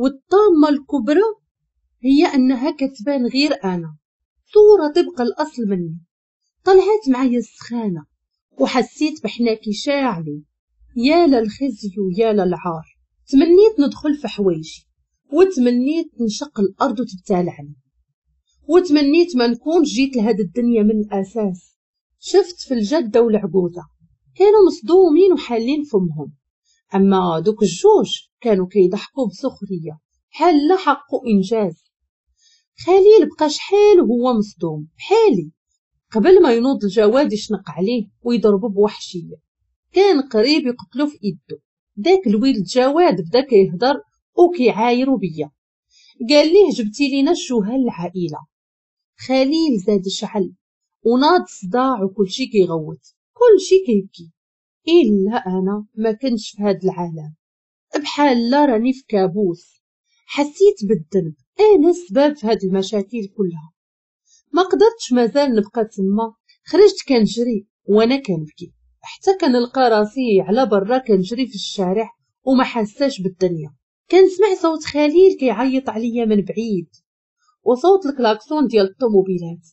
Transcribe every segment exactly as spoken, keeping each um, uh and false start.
والطامة الكبرى هي أنها كتبان غير أنا، صورة طبق الأصل مني. طلعت معايا السخانة وحسيت بحناكي شاعلين. يا للخزي ويا للعار. تمنيت ندخل في حوايجي، وتمنيت نشق الأرض وتبتلعني، وتمنيت ما نكون جيت لهاد الدنيا من الأساس. شفت في الجدة والعجوزة كانوا مصدومين وحالين فمهم، أما دوك الجوج كانوا كيضحكوا بسخرية بحال لا حقوا إنجاز. خليل بقى شحال وهو مصدوم بحالي قبل ما ينوض الجواد يشنق عليه ويضربه بوحشية، كان قريب يقتلو في إيده. داك الويل جواد بدا كيهضر وكيعايرو بيا، قال ليه جبتي لينا الشوهه للعائلة. خليل زاد شعل وناض صداع وكلشي كيغوت، كلشي كيبكي الا انا ما كنتش في هاد العالم، بحال لا راني في كابوس. حسيت بالذنب، انا السبب في هاد المشاكل كلها. ما قدرتش مازال نبقى تما، خرجت كنجري وانا كنبكي حتى كنلقى راسي على برا كنجري في الشارع وما حساش بالدنيا. كنسمع صوت خليل كيعيط عليا من بعيد وصوت الكلاكسون ديال الطوموبيلات.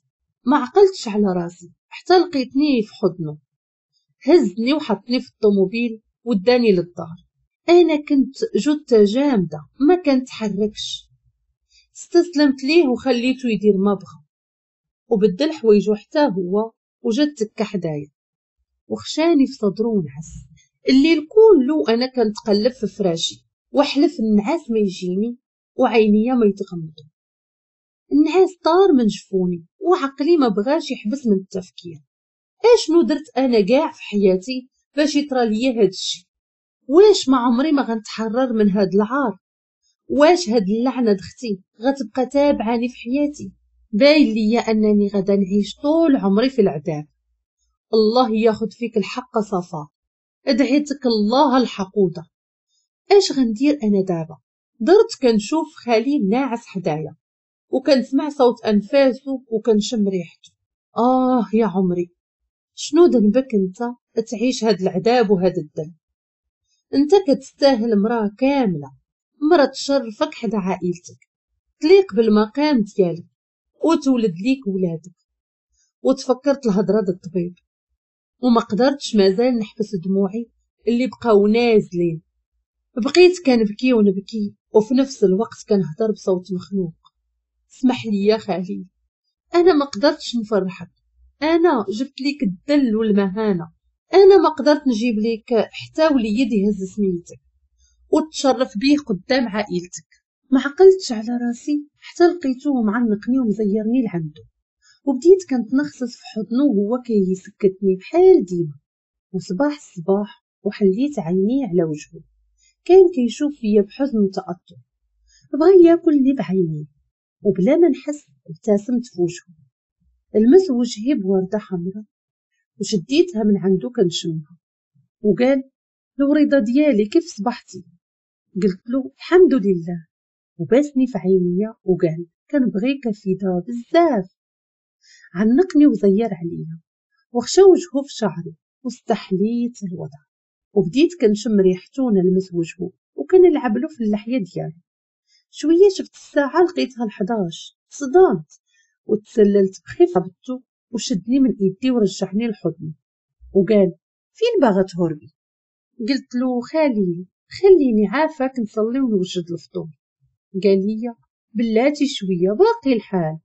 ما عقلتش على راسي حتى لقيتني في حضنه، هزني وحطني في الطوموبيل وداني للدار. انا كنت جثة جامدة ما كنتحركش، استسلمت ليه وخليته يدير ما بغى، وبدل حوايجو حتى هو وجا تكا حدايا وخشاني في صدرو ونعس. الليل كله انا كنتقلب في فراشي وحلف النعاس ما يجيني وعينيا ما يتغمضوا. النعاس طار من جفوني وعقلي ما بغاش يحبس من التفكير. اشنو درت انا كاع في حياتي باش يطرى ليا هاد الشيء؟ واش ما عمري ما غنتحرر من هاد العار؟ واش هاد اللعنة دختي غتبقى تابعاني في حياتي؟ باين ليا انني غدا نعيش طول عمري في العذاب. الله ياخد فيك الحق صفا، ادعيتك الله الحقوده. اش غندير انا دابا؟ درت كنشوف خليل ناعس حدايا وكنسمع صوت انفاسه وكنشم ريحته. اه يا عمري، شنو ذنبك انت تعيش هاد العذاب وهاد الذل؟ انت كتستاهل مراة كاملة، مراة تشرفك حدا عائلتك، تليق بالمقام ديالك وتولد ليك ولادك. وتفكرت الهضرة د الطبيب وما قدرتش مازال نحبس دموعي اللي بقاو نازلين. بقيت كنبكي ونبكي وفي نفس الوقت كنهضر بصوت مخنوق. اسمح لي يا خليل، انا ما قدرتش نفرحك، انا جبت ليك الذل والمهانة، انا ما قدرت نجيب ليك حتى وليد يهز سميتك وتشرف بيه قدام عائلتك. ما عقلتش على راسي حتى لقيته معنقني ومزيرني لعنده، وبديت كنتنخصص في حضنه وهو كيسكتني بحال ديما. وصباح الصباح وحليت عيني على وجهه، كان كيشوف فيا بحزن وتأثر، بغى ياكلني بعينيه، وبلا ما نحس ابتسمت في وجهه. لمس وجهي بوردة حمراء وشديتها من عنده كنشمها، وقال الوريضة ديالي كيف صبحتي؟ قلت له الحمد لله، وباسني في عينيا وقال كنبغيك فيدا بزاف. عنقني وزير عليا وخشى وجهه في شعري واستحليت الوضع، وبديت كنشم ريحته ونلمس وجهه وكنلعب له في اللحية ديالو. شوية شفت الساعة لقيتها الحداش، صدمت وتسللت بخفة هبطو وشدني من ايدي ورجعني لحضنه وقال فين باغا تهربي؟ قلت له خليل خليني عافاك نصلي ونوجد الفطور. قال لي بلاتي شوية باقي الحال.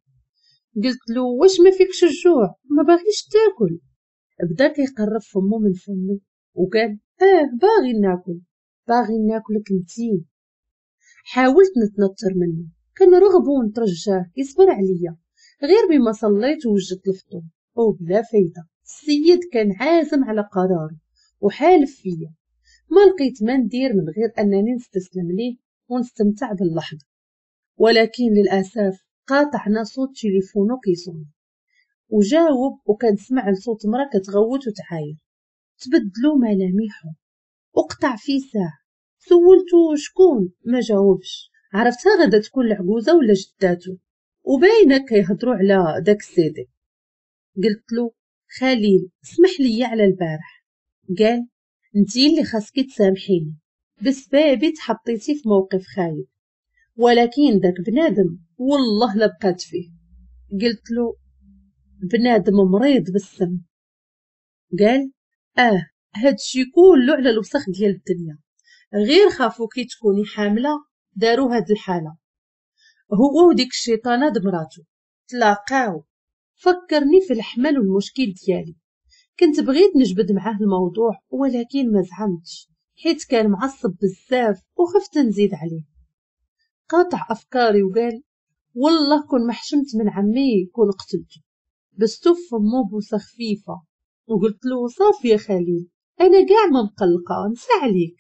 قلت له واش ما فيكش الجوع ما باغيش تاكل؟ بدا كيقرب فمو من فمي وقال اه باغي ناكل، باغي ناكلك انتي. حاولت نتنطر منه، كنرغبو ونترجاه يصبر عليا غير بما صليت ووجدت الفطور، وبلا فايده. السيد كان عازم على قراره وحالف فيا، ما لقيت ما ندير من غير انني نستسلم ليه ونستمتع باللحظة. ولكن للاسف قاطعنا صوت تليفونو كيصوني، وجاوب وكنسمع لصوت مرا كتغوت وتعاير. تبدلو ملامحه وقطع في ساعة. سولتو شكون ما جاوبش، عرفتها غدا تكون العجوزة ولا جداتو، وباينه كيهضروا على داك السيدي. قلت له خليل اسمح لي على البارح. قال انتي اللي خاصك تسامحيني، بسبابي تحطيتي في موقف خايب. ولكن داك بنادم والله لا بقات فيه. قلت له بنادم مريض بالسم. قال اه هادشي كله على الوسخ ديال الدنيا، غير خافو كي تكوني حامله داروا هاد الحالة. هو وديك الشيطانه دمراتو تلاقاو. فكرني في الحمل والمشكل ديالي، كنت بغيت نجبد معاه الموضوع ولكن ما زعمتش حيت كان معصب بزاف وخفت نزيد عليه. قاطع افكاري وقال والله كون ما حشمت من عمي كون قتلته. بستو في فمو بوسه خفيفة وقلت له صافي يا خليل انا كاع ما مقلقة نسى عليك.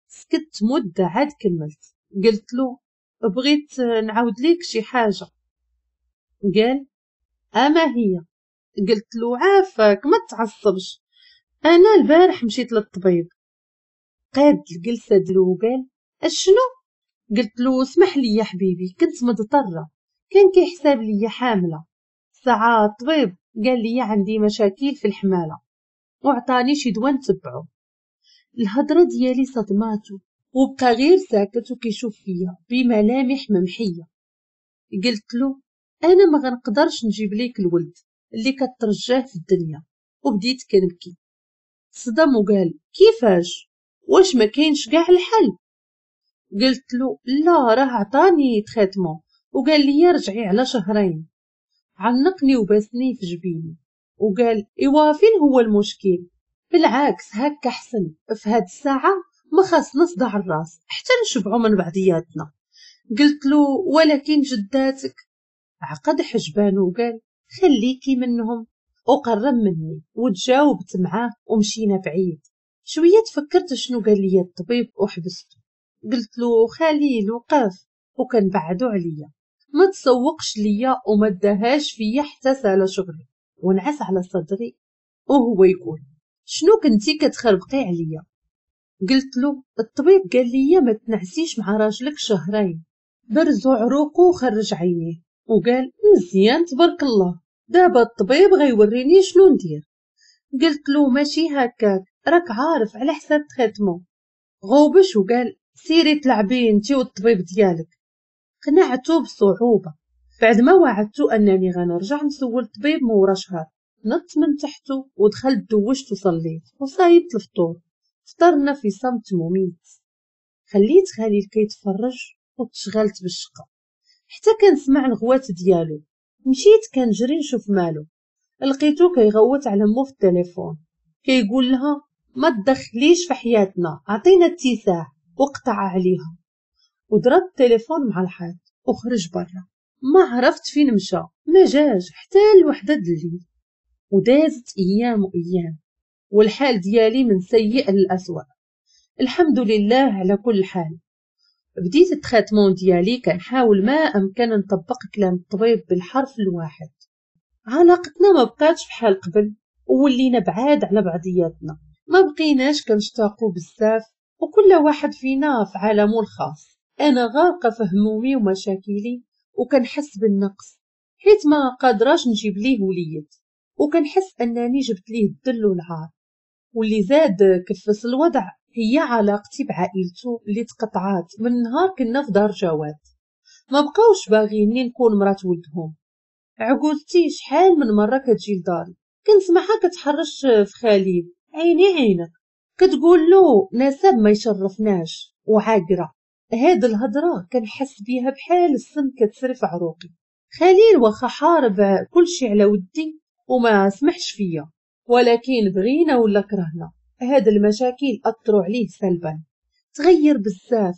سكت مده عاد كملت قلت له بغيت نعاود ليك شي حاجة. قال اما هي؟ قلت له عافاك ما تعصبش، انا البارح مشيت للطبيب. قاد الجلسة ديالو وقال اشنو؟ قلت له اسمح لي يا حبيبي كنت مضطرة، كان كيحساب لي حامله. ساعة الطبيب قال لي عندي مشاكل في الحماله وعطاني شي دواء نتبعو. الهضرة ديالي صدماتو وبقى غير ساكت وكيشوف فيا بملامح ممحيه. قلت له انا ما غنقدرش نجيب ليك الولد اللي كترجاه في الدنيا، وبديت كنبكي. صدم وقال كيفاش؟ واش ما كاينش كاع الحل؟ قلت له لا راه عطاني traitement وقال لي رجعي على شهرين. عنقني وباسني في جبيني وقال ايوا فين هو المشكل؟ بالعكس هكا حسن، في هاد الساعة ما خاصنا صداع الراس حتى نشبعوا من بعضياتنا. قلت له ولكن جداتك. عقد حجبانه وقال خليكي منهم، وقرب مني وتجاوبت معاه ومشينا بعيد شوية. تفكرت شنو قال لي الطبيب وحبسته. قلت له خليل وقف، وكان بعدو عليا ما تسوقش ليا وما داهاش فيا حتى سال شغلي ونعس على صدري وهو يقول شنو كنتي كتخربقي عليا؟ قلت له الطبيب قال لي ما تنعسيش مع راجلك شهرين. برزو عروقه وخرج عينيه وقال مزيان تبارك الله، دابا الطبيب غيوريني شنو ندير. قلت له ماشي هكاك راك عارف على حساب traitement. غوبش وقال سيري تلعبي انتي والطبيب ديالك. قنعته بصعوبة بعد ما وعدته انني غنرجع نسول الطبيب مورا شهر. نط من تحته ودخلت دوشت وصليت وصايبت الفطور. فطرنا في صمت مميت. خليت خليل كيتفرج وتشغلت بالشقه حتى كنسمع الغوات ديالو. مشيت كنجري نشوف مالو، لقيتو كيغوت على مو في التليفون كيقول لها ما تدخليش في حياتنا عطينا اتساع، وقطع عليها وضرب التليفون مع الحيط وخرج برا. ما عرفت فين مشى، ما جاش حتى الوحدة الليل. ودازت ايام وايام والحال ديالي من سيء للأسوأ. الحمد لله على كل حال. بديت ال traitement ديالي كنحاول ما امكن نطبق كلام الطبيب بالحرف الواحد. علاقتنا ما بقاتش بحال قبل وولينا بعاد على بعضياتنا، ما بقيناش كنشتاقو بزاف وكل واحد فينا في عالمه الخاص. انا غارقة في همومي ومشاكلي وكنحس بالنقص حيت ما قادراش نجيب ليه وليد، وكنحس انني جبت ليه الذل والعار. واللي زاد كفس الوضع هي علاقتي بعائلته اللي تقطعات من نهار كنا في دار جواد. ما بقاوش باغيني نكون مرات ولدهم. عقولتي شحال من مرة كتجي لداري كنسمعها كتحرش في خليل عيني عينك، كتقول له نسب ما يشرفناش وعاقره. هاد الهضرة كنحس بيها بحال السم كتسري في عروقي. خليل واخا حارب كلشي على ودي وما سمحش فيا، ولكن بغينا ولا كرهنا هاد المشاكل اثروا عليه سلبا. تغير بزاف،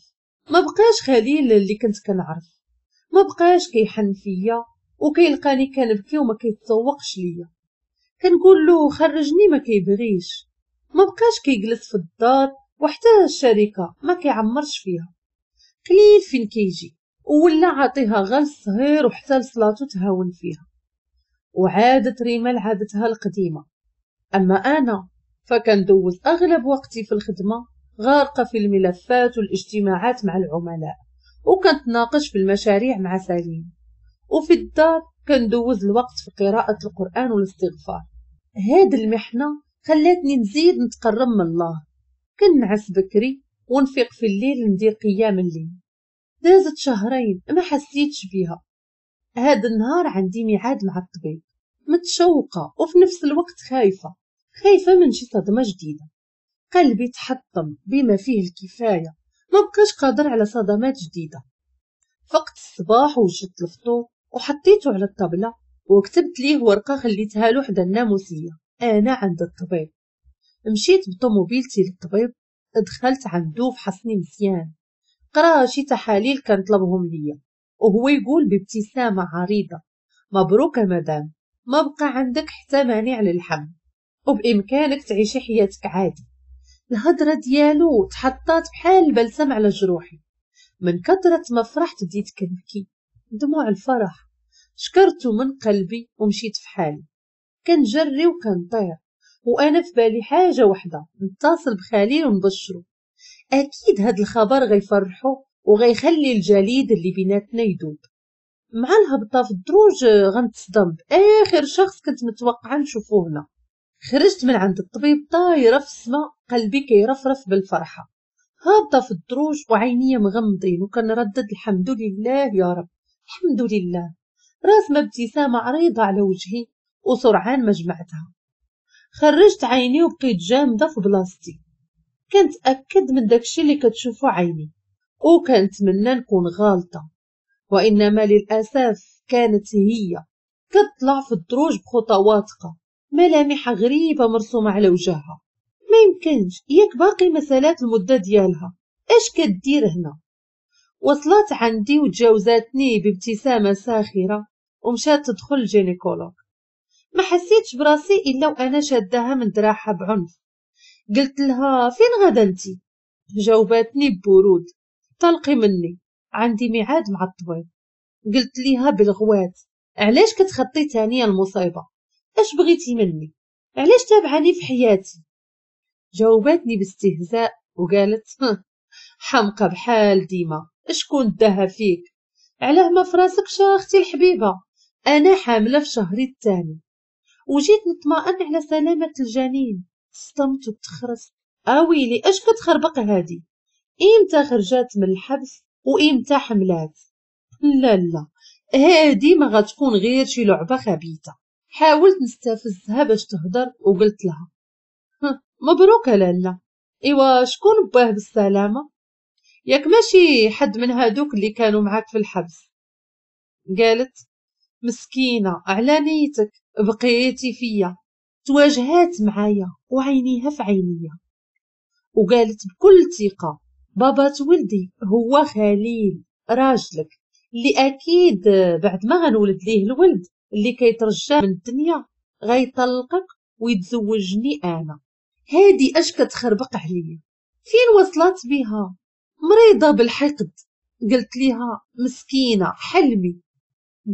ما بقاش خليل اللي كنت كنعرف، ما بقاش كيحن فيا وكيلقاني كنبكي وما كيتسوقش ليا. كنقول له خرجني ما كيبغيش، ما بقاش كيجلس في الدار وحتى الشركة ما كيعمرش فيها، قليل فين كيجي ولا عاطيها غير الصهير وحتى لصلاتو تهاون فيها. وعادت ريما لعادتها القديمة. اما انا فكندوز اغلب وقتي في الخدمة غارقة في الملفات والاجتماعات مع العملاء، وكنتناقش في المشاريع مع سليم، وفي الدار كندوز الوقت في قراءة القران والاستغفار. هاد المحنة خلاتني نزيد نتقرب من الله. كنعس بكري ونفيق في الليل ندير قيام الليل. دازت شهرين ما حسيتش بيها. هذا النهار عندي ميعاد مع الطبيب، متشوقة وفي نفس الوقت خايفة، خايفة من شي صدمة جديدة. قلبي تحطم بما فيه الكفاية، ما بقاش قادر على صدمات جديدة. فقت الصباح وجدت الفطور وحطيته على الطبلة وكتبت ليه ورقة خليتها له حدا الناموسية. أنا عند الطبيب. مشيت بطوموبيلتي للطبيب، دخلت عنده فحصني مزيان، قرا شي تحاليل كان طلبهم ليا، وهو يقول بابتسامة عريضة: مبروك مدام، ما بقى عندك حتى مانع للحمل وبإمكانك تعيشي حياتك عادي. الهضرة ديالو تحطات بحال البلسم على جروحي، من كثرة ما فرحت بديت كنبكي دموع الفرح. شكرته من قلبي ومشيت في حالي، كنجري وكنطير وانا في بالي حاجة وحدة: نتصل بخليل ونبشرو. اكيد هاد الخبر غيفرحو وغيخلي الجليد اللي بيناتنا يذوب. مع الهبطة في الدروج غنتصدم باخر شخص كنت متوقعة نشوفو هنا. خرجت من عند الطبيب طايرة في السما، قلبي كيرفرف بالفرحة. هابطة في الدروج وعينيا مغمضين وكنردد الحمد لله يا رب، الحمد لله. راسمة ابتسامة عريضة على وجهي وسرعان ما جمعتها. خرجت عيني وبقيت جامدة في بلاصتي، كنتأكد من داكشي اللي كتشوفو عيني وكنتمنى نكون غالطة، وإنما للأسف كانت هي كتطلع في الدروج بخطوات واثقة، ملامح غريبة مرسومة على وجهها. ما يمكنش، ياك باقي مسالات المدة ديالها، اش كدير هنا؟ وصلت عندي وتجاوزاتني بابتسامة ساخرة ومشات تدخل ال gynécologue. ما حسيتش براسي الا وانا شاداها من دراعها بعنف. قلت لها: فين غادا انتي؟ جاوباتني ببرود: طلقي مني، عندي ميعاد مع الطبيب. قلت ليها بالغوات: علاش كتخطي تاني المصيبة؟ اش بغيتي مني؟ علاش تابعاني في حياتي؟ جاوباتني باستهزاء وقالت: حمقى بحال ديما، اشكون داها فيك؟ علاه ما فراسكش اختي الحبيبة، انا حامله في شهري الثاني وجيت نطمئن على سلامه الجنين. صدمت وتخرست. اويلي اش كتخربق هادي؟ امتى خرجات من الحبس وامتى حملات؟ لا لا، هادي ما غتكون غير شي لعبه خبيثة. حاولت نستفزها باش تهضر وقلت لها: مبروك لالا، ايوا شكون باه بالسلامة؟ ياك ماشي حد من هادوك اللي كانوا معاك في الحبس؟ قالت: مسكينه على نيتك بقيتي فيا. تواجهات معايا وعينيها في عينيا وقالت بكل ثقة: بابات ولدي هو خليل راجلك، اللي اكيد بعد ما غنولد ليه الولد اللي كيترجى من الدنيا غيطلقك ويتزوجني انا. هادي اش كتخربق عليا؟ فين وصلت بها؟ مريضه بالحقد. قلت ليها: مسكينه حلمي.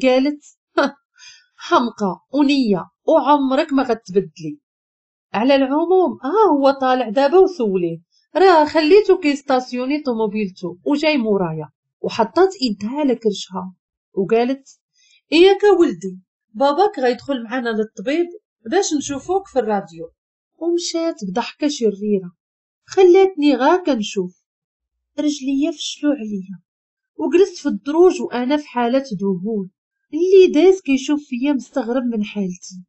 قالت: حمقى ونيه وعمرك ما غتبدلي. على العموم ها هو طالع دابا وسوليه، راه خليته كيستاسيوني طوموبيلتو وجاي مورايا. وحطات ايدها على كرشها وقالت: اياك ولدي، باباك غيدخل معنا للطبيب باش نشوفوك في الراديو. ومشات بضحكه شريرة خلاتني غا كنشوف. رجليا فشلو عليا وجلست في الدروج وانا في حاله ذهول. اللي داز كيشوف فيا مستغرب من حالتي.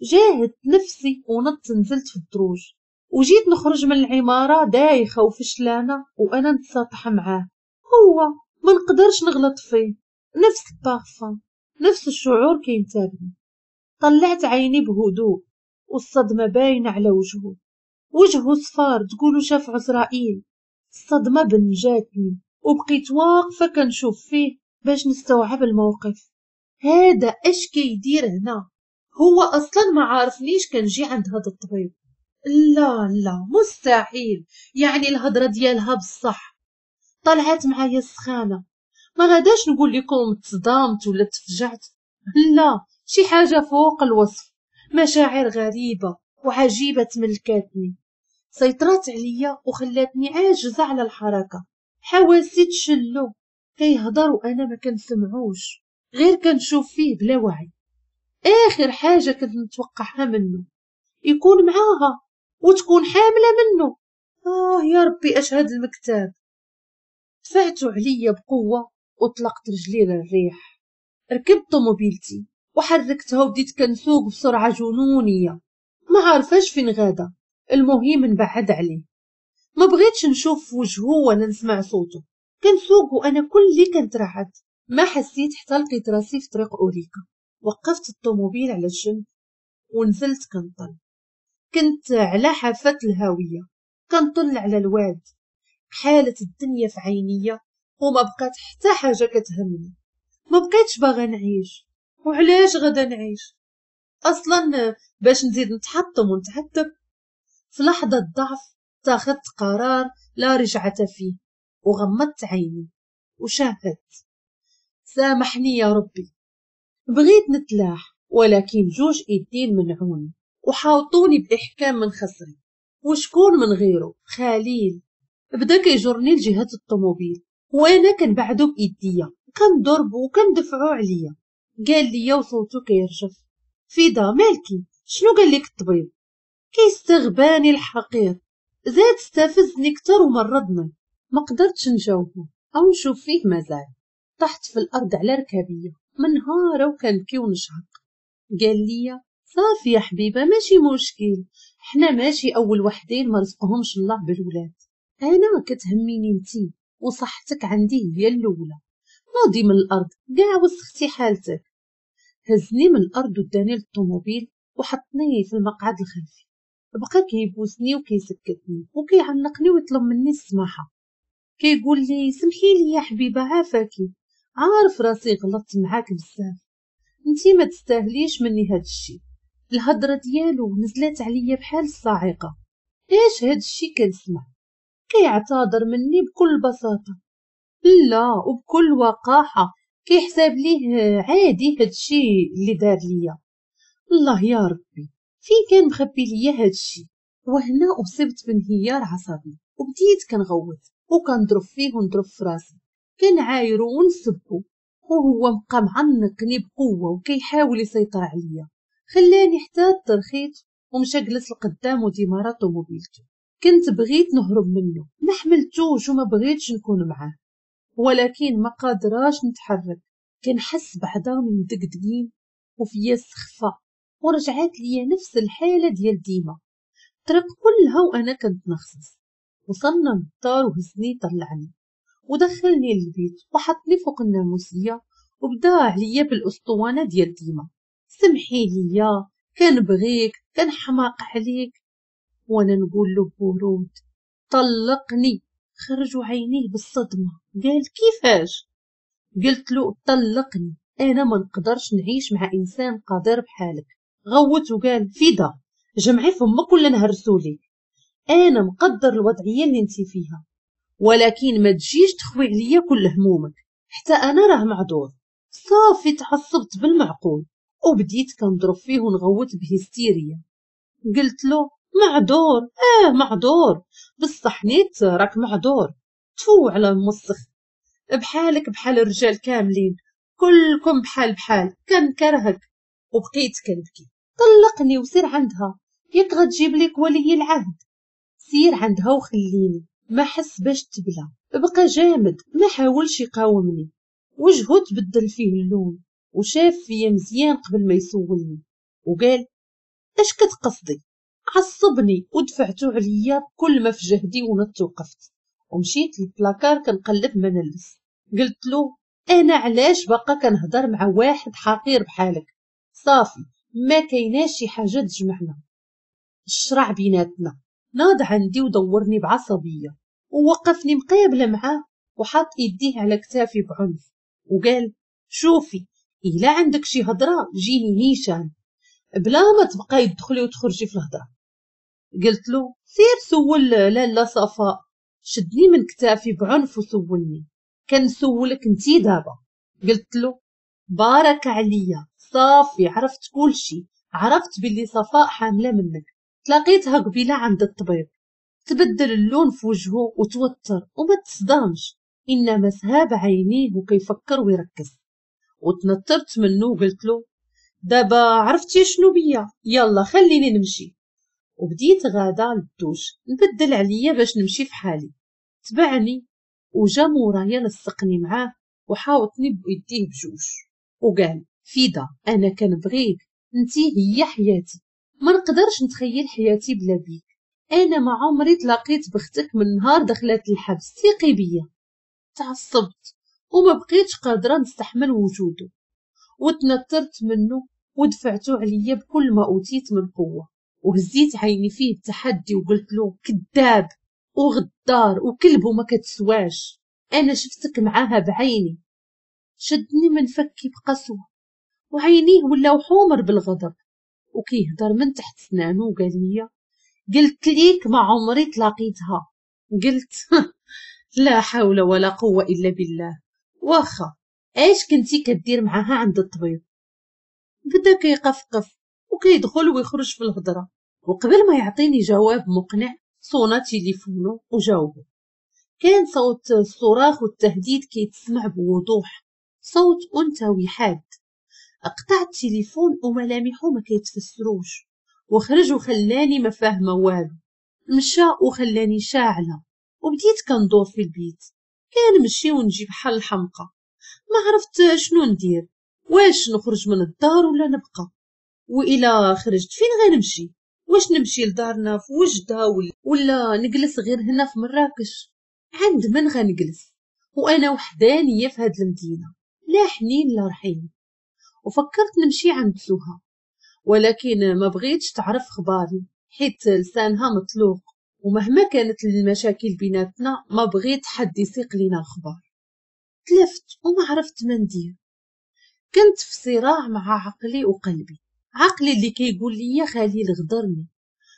جاهدت نفسي ونط نزلت في الدروج وجيت نخرج من العمارة دايخه وفشلانه وانا نتساطح معاه. هو ما نقدرش نغلط فيه، نفس البارفان، نفس الشعور كينتابني. طلعت عيني بهدوء والصدمه باينة على وجهه، وجهه صفار تقولوا شاف عزرائيل. الصدمة بنجاتني وبقيت واقفة كنشوف فيه باش نستوعب الموقف. هذا اش كيدير هنا؟ هو اصلا ما عارفنيش كنجي عند هذا الطبيب. لا لا مستحيل، يعني الهضرة ديالها بصح. طلعت معايا السخانه، ما غاداش نقول لكم تصدمت ولا تفجعت، لا، شي حاجة فوق الوصف. مشاعر غريبة وعجيبه تملكاتني، سيطرات عليا وخلاتني عاجزه على الحركة. حواسي تشلو، كيهضر وانا ما كنسمعوش، غير كنشوف فيه بلا وعي. اخر حاجة كنت نتوقعها منه يكون معاها وتكون حامله منه. اه يا ربي اش هاد المكتاب. دفعتو عليا بقوة وطلقت رجلي للريح. ركبت طوموبيلتي وحركتها وبديت كنسوق بسرعة جنونيه، ما عارفاش فين غادا، المهم نبعد عليه. ما بغيتش نشوف وجهه ولا نسمع صوته. كنسوق وانا كلي كنترعد. ما حسيت حتى لقيت راسي في طريق اوريكا. وقفت الطوموبيل على الجنب ونزلت كنطل. كنت على حافة الهاوية كنطل على الواد. حالة الدنيا في عينيا وما بقات حتى حاجة كتهمني. ما بقيتش باغا نعيش. وعلاش غادا نعيش اصلا؟ باش نزيد نتحطم ونتعذب. في لحظة ضعف تاخذت قرار لا رجعة فيه، وغمضت عيني وشاهدت. سامحني يا ربي. بغيت نتلاح ولكن جوج ايدين منعوني وحاوطوني باحكام من خصري. وشكون من غيره؟ خليل. بدا كيجرني لجهة الطوموبيل وانا كنبعدو بايديا، كنضربو وكندفعو عليا. قال لي وصوتو كيرجف: فيدا مالكي؟ شنو قال لك الطبيب؟ كيستغباني الحقير، زاد استفزني كتر ومرضني. ما قدرتش نجاوبه او نشوف فيه مازال. طحت في الارض على ركابيه منهاره وكنبكي ونشهق. قال لي: صافي يا حبيبه، ماشي مشكل، حنا ماشي اول وحدين ما رزقهمش الله بالولاد. انا كتهميني انتي وصحتك عندي هي الاولى. نوضي من الارض كاع وسختي حالتك. هزني من الارض وداني للطوموبيل وحطني في المقعد الخلفي. بقى كيبوسني وكيسكتني وكيعنقني ويطلب مني السماحة. كيقول لي: سمحي لي يا حبيبه، عافاكي، عارف راسي غلطت معاك بزاف، انتي ما تستاهليش مني هاد الشي. الهضرة ديالو نزلت عليا بحال الصاعقة. ايش هاد الشي كنسمع؟ كيعتذر مني بكل بساطة، لا وبكل وقاحه، كيحسب ليه عادي هاد الشي اللي دار ليا. الله يا ربي، فين كان مخبي ليا هاد الشي؟ وهنا اصبت بانهيار عصبي وبديت كنغوت وكنضرب فيه ونضرب في راسي، كنعايرو ونسبو، وهو مبقى معنقني بقوة وكيحاول يسيطر عليا. خلاني حتى ترخيت ومشى جلس لقدام وديمارا طوموبيلتو. كنت بغيت نهرب منه، ما حملتوش وما بغيتش نكون معاه، ولكن ما قادراش نتحرك. كنحس بعظامي مدقدقين وفيا السخفه، ورجعت ليا نفس الحالة ديال ديما. الطريق كلها وانا كنتنخصص. وصلنا للدار وهزني طلعني ودخلني للبيت وحطني فوق الناموسيه وبدا عليا بالاسطوانه ديال ديما: سمحي ليا، كنبغيك، كنحماق عليك. وانا نقول له ببرود: طلقني. خرجوا عينيه بالصدمة، قال: كيفاش؟ قلت له: طلقني، انا ما نقدرش نعيش مع انسان قادر بحالك. غوت وقال: فيدا جمعي فمك ولا نهرسوليك، انا مقدر الوضعية اللي انت فيها، ولكن ما تجيش تخوي عليا كل همومك، حتى انا راه معذور. صافي تعصبت بالمعقول وبديت كنضرب فيه ونغوت بهستيريا. قلت له: معذور؟ اه معذور، بصح نيت راك معذور. تفو على المسخ، بحالك بحال الرجال كاملين، كلكم بحال بحال، كنكرهك. وبقيت كنبكي. طلقني وسير عندها، ياك غتجيب لك ولي العهد، سير عندها وخليني. ما حس باش تبلى، بقى جامد، ما حاولش يقاومني. وجهه تبدل فيه اللون وشاف فيا مزيان قبل ما يسولني وقال: اش كتقصدي؟ عصبني ودفعته عليا بكل ما في جهدي ونط وقفت ومشيت للبلاكار كنقلب ما نلبس. قلت له: انا علاش باقا كنهضر مع واحد حقير بحالك؟ صافي ما كايناش شي حاجة تجمعنا، الشرع بيناتنا. ناض عندي ودورني بعصبيه ووقفني مقابله معاه وحط يديه على كتافي بعنف وقال: شوفي، الا عندك شي هضره جيني نيشان، بلا ما تبقاي تدخلي وتخرجي في الهضرة. قلت له: سير سول لاله صفاء. شدني من كتافي بعنف وسولني: كنسولك انتي دابا؟ قلت له: بارك عليا، صافي عرفت كلشي، عرفت باللي صفاء حامله منك، تلاقيتها قبيلة عند الطبيب. تبدل اللون في وجهه وتوتر وما تصدمش، انما سهاب عينيه وكيفكر ويركز. وتنطرت منه وقلت له: دابا عرفتي شنو بيا، يلا خليني نمشي. وبديت غادا للدوش نبدل عليا باش نمشي في حالي. تبعني وجا مورايا لصقني معاه وحاوطني بيديه بجوج وقال فيدا انا كنبغيك، انتي هي حياتي، ما نقدرش نتخيل حياتي بلا بيك، انا ما عمري تلاقيت بختك من نهار دخلت الحبس، ثقي بيا. تعصبت وما بقيتش قادرة نستحمل وجوده، وتنترت منه ودفعته عليا بكل ما اوتيت من قوة، وهزيت عيني فيه بتحدي وقلت له كذاب وغدار وكلب وما كتسواش، انا شفتك معاها بعيني. شدني من فكي بقسوه وعينيه ولاو حمر بالغضب، وكيهضر من تحت سنانو وقال لي قلت ليك ما عمري تلاقيتها. قلت لا حول ولا قوة الا بالله، واخا اش كنتي كدير معاها عند الطبيب؟ بدا كيقفقف وكيدخل ويخرج في الهضرة، وقبل ما يعطيني جواب مقنع صونا تليفونه وجاوبه. كان صوت الصراخ والتهديد كيتسمع بوضوح، صوت انثوي حاد. قطع التليفون وملامحه ما كيتفسروش، وخرج وخلاني ما فاهمه والو. مشى وخلاني شاعله، وبديت كندور في البيت، كنمشي ونجي بحال الحمقى، ما عرفت شنو ندير، واش نخرج من الدار ولا نبقى، والى خرجت فين غنمشي؟ واش نمشي لدارنا في وجده ولا نجلس غير هنا في مراكش؟ عند من غنجلس وانا وحدانية في هاد المدينة، لا حنين لا رحيم. وفكرت نمشي عند سهى، ولكن ما بغيتش تعرف خباري حيت لسانها مطلوق، ومهما كانت المشاكل بيناتنا ما بغيت حد يسيق لينا الخبار. تلفت وما عرفت ما ندير، كنت في صراع مع عقلي وقلبي. عقلي اللي كيقول لي خليل غدرني،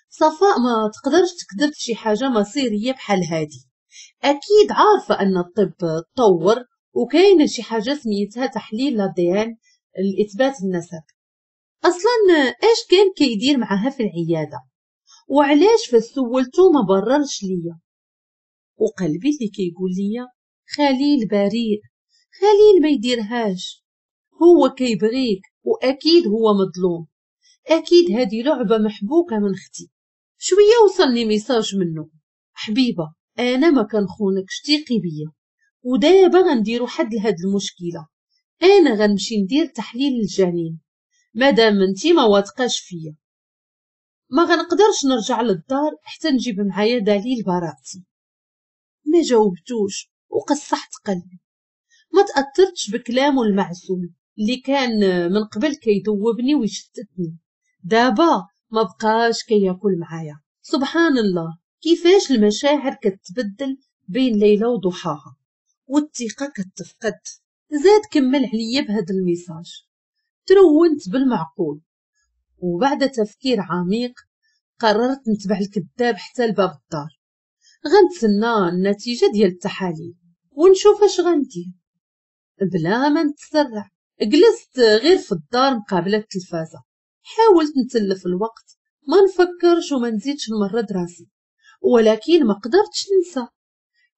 صفاء ما تقدرش تكذب في شي حاجة مصيرية بحال هادي، اكيد عارفه ان الطب تطور وكاينه شي حاجة سميتها تحليل l'ADN لاثبات النسب. اصلا اش كان كيدير معاها في العيادة؟ وعلاش فسولتو ما بررش ليا؟ وقلبي اللي كيقول لي خليل بريء، خليل ما يديرهاش، هو كيبغيك واكيد هو مظلوم، اكيد هذه لعبه محبوكه من اختي. شوية وصلني message منه، حبيبه انا ما كنخونكش، ثقي بيا، ودابا غنديرو حد لهاد المشكلة، انا غنمشي ندير تحليل الجنين مادام انتي ما واثقاش فيا، ما غنقدرش نرجع للدار حتى نجيب معايا دليل براءتي. ما جاوبتوش وقصحت قلبي، ما تاثرتش بكلامه المعسول اللي كان من قبل كيذوبني ويشتتني، دابا ما بقاش كياكل معايا. سبحان الله كيفاش المشاعر كتبدل بين ليلة وضحاها والثقة كتفقد. زاد كمل عليا بهذا ال message، ترونت بالمعقول، وبعد تفكير عميق قررت نتبع الكذاب حتى لباب الدار، غنتسنى النتيجة ديال التحاليل ونشوف اش غندير بلا ما نتسرع. جلست غير في الدار مقابله التلفازه، حاولت نتلف الوقت ما نفكرش وما نزيدش نمرض راسي، ولكن ما قدرتش ننسى.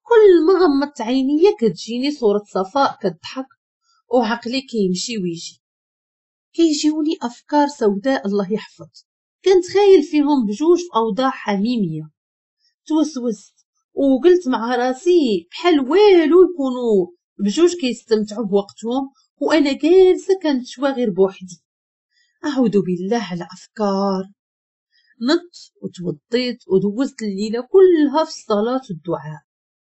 كل ما غمضت عينيا كتجيني صورة صفاء كتضحك وعقلي كيمشي ويجي، كيجيوني افكار سوداء الله يحفظ، كنتخيل فيهم بجوج في اوضاع حميمية. توسوست وقلت مع راسي بحال والو يكونوا بجوج كيستمتعوا بوقتهم وانا جالسة كنتشوى غير بوحدي. اعوذ بالله على افكار. نط وتوضيت ودوزت الليلة كلها في الصلاة والدعاء،